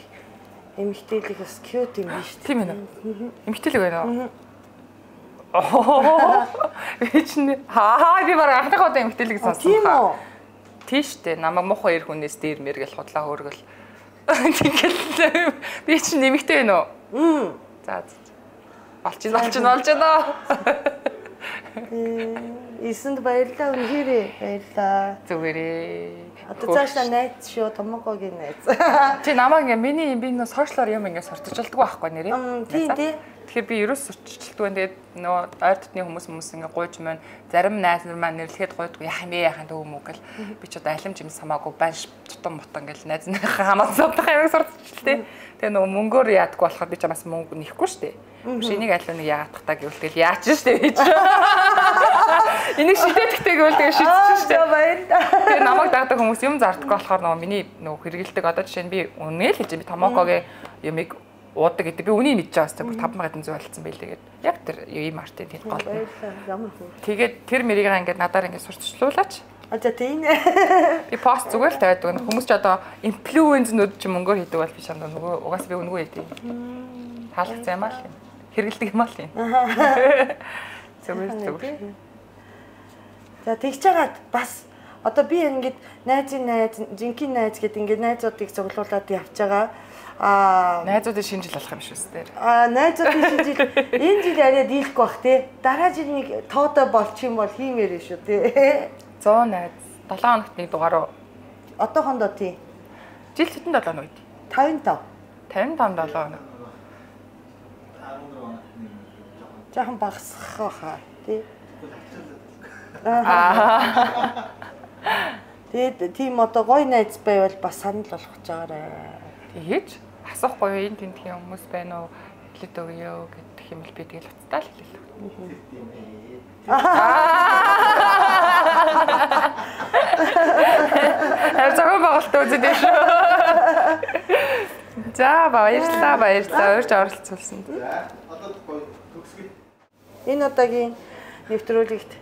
эмэгтэйлэг бас cute юм биш тийм ээ. Эмэгтэйлэг байна. Оо. Эцэн хаа би баг анхныхаа удаа эмэгтэйлэг сонссон. Тийм үү? Тийштэй намайг муухай ир хүнээс дээр мэргэл худлаа хөргөл. Тэгэл би чинь эмэгтэй байна уу? За болж ин болж ин болж байна. Эсэнд баярлалаа үнэхээр баярлалаа. Зүгээрээ. Одоо цаашаа найз шүү томогогийн найз. Чи намайг ингээ миний би нөө сошиалор юм ингээ сурталчилдаг байхгүй нэрээ. Тийм тийм. Тэгэхээр би ерөөс сурталчилдаг байна. Тэгээд нөө ойр дотны хүмүүс хүмүүс ингээ гуйж маань зарим найз нар маань нэрлэхэд гуйдгүй яах юм бэ яхаа дөө мөг гэл би ч одоо алимж юм самаагүй банш тутам мутан гэл найз нарынхаа хамаасан юм сурталчилтээ. Тэгээ нөө мөнгөөр яадаггүй болохоор би ч бас мөнгө нэхгүй шүү дээ. Биш энийг аль нэг яадаг та гэвэл тэгэл яач штэ гэж. Энийг шидэтгэхтэй гэвэл тэгээ шидчихсэн штэ. Тэгээ намайг дагдаг хүмүүс юм зардаггүй болохоор нөгөө миний нөгөө хэрэгэлдэг одоо жишээ нь би үнэ л хэлж би томоокогийн юмыг уудаг гэдэг. Би үнийг мэдж байгаа хэвээр таван мянган зүй болцсон байлээ гэдэг. Яг тэр юм артын хэд гол. Ямар хөө. Тэгээд тэр мэрийг ингээд надаар ингээд сурталчлуулаач. А за тийм. Би пост зүгээр л тавиад хүмүүс ч одоо инфлюенсерүүд ч мөнгөөр хийдэг бол би чамд нөгөө угаасаа би үнэгүй хийдэг. Таалагдсан юм аа л юм. Хэрэгэлдэг юм аа л юм. Зүгээр зүгээр. За тэгж жагаад бас одоо би ингээд найзын найз, жинхэнэ найз гэдэг ингээд найзуудыг цуглуулад явж байгаа. Аа найзуудын шинжил болох юм шүү дээ. Аа найзуудын шинжил энэ жил арай дийлэхгүй бах тий. Дараа жил нэг тоотой болчих юм бол хиймээр шүү тий. сто найз долоо хоногт нэг дугаар уу? Одоохондоо тий. Жил хэдэн долоо хоног вэ? тавин тав. тавин тав долоо хоног. Жаахан багасгах хаа тий. Аа. Тэгээд тийм одоо гоё найз байвал бас санал болгож байгаарэ. Тэгэж асуухгүй энэ тентхийн хүмүүс байна уу? Хэлээд өгөө гэдэг юм л би тэгэл уцтаа л хэлээ. Аа зөвхөн байгальтай үзээд шүү. За баярлалаа баярлалаа өөрч оролцуулсан. За одоо төгсгөл. Энэ удаагийн нэвтрүүлэгт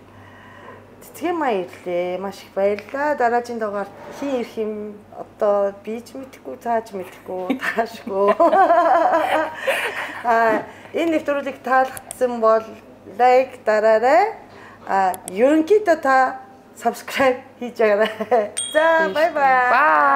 цэцгийн маяг ирлээ. Маш их баярлалаа. Дараагийн дугаар хин ирэх юм одоо би ч мэдэхгүй, цааж мэдэхгүй, таашгүй. Аа энэ нэвтрүүлэг таалагдсан бол лайк дараарай. А ерөнхийдөө та subscribe хийж байгаарай. За бай бай. Bye.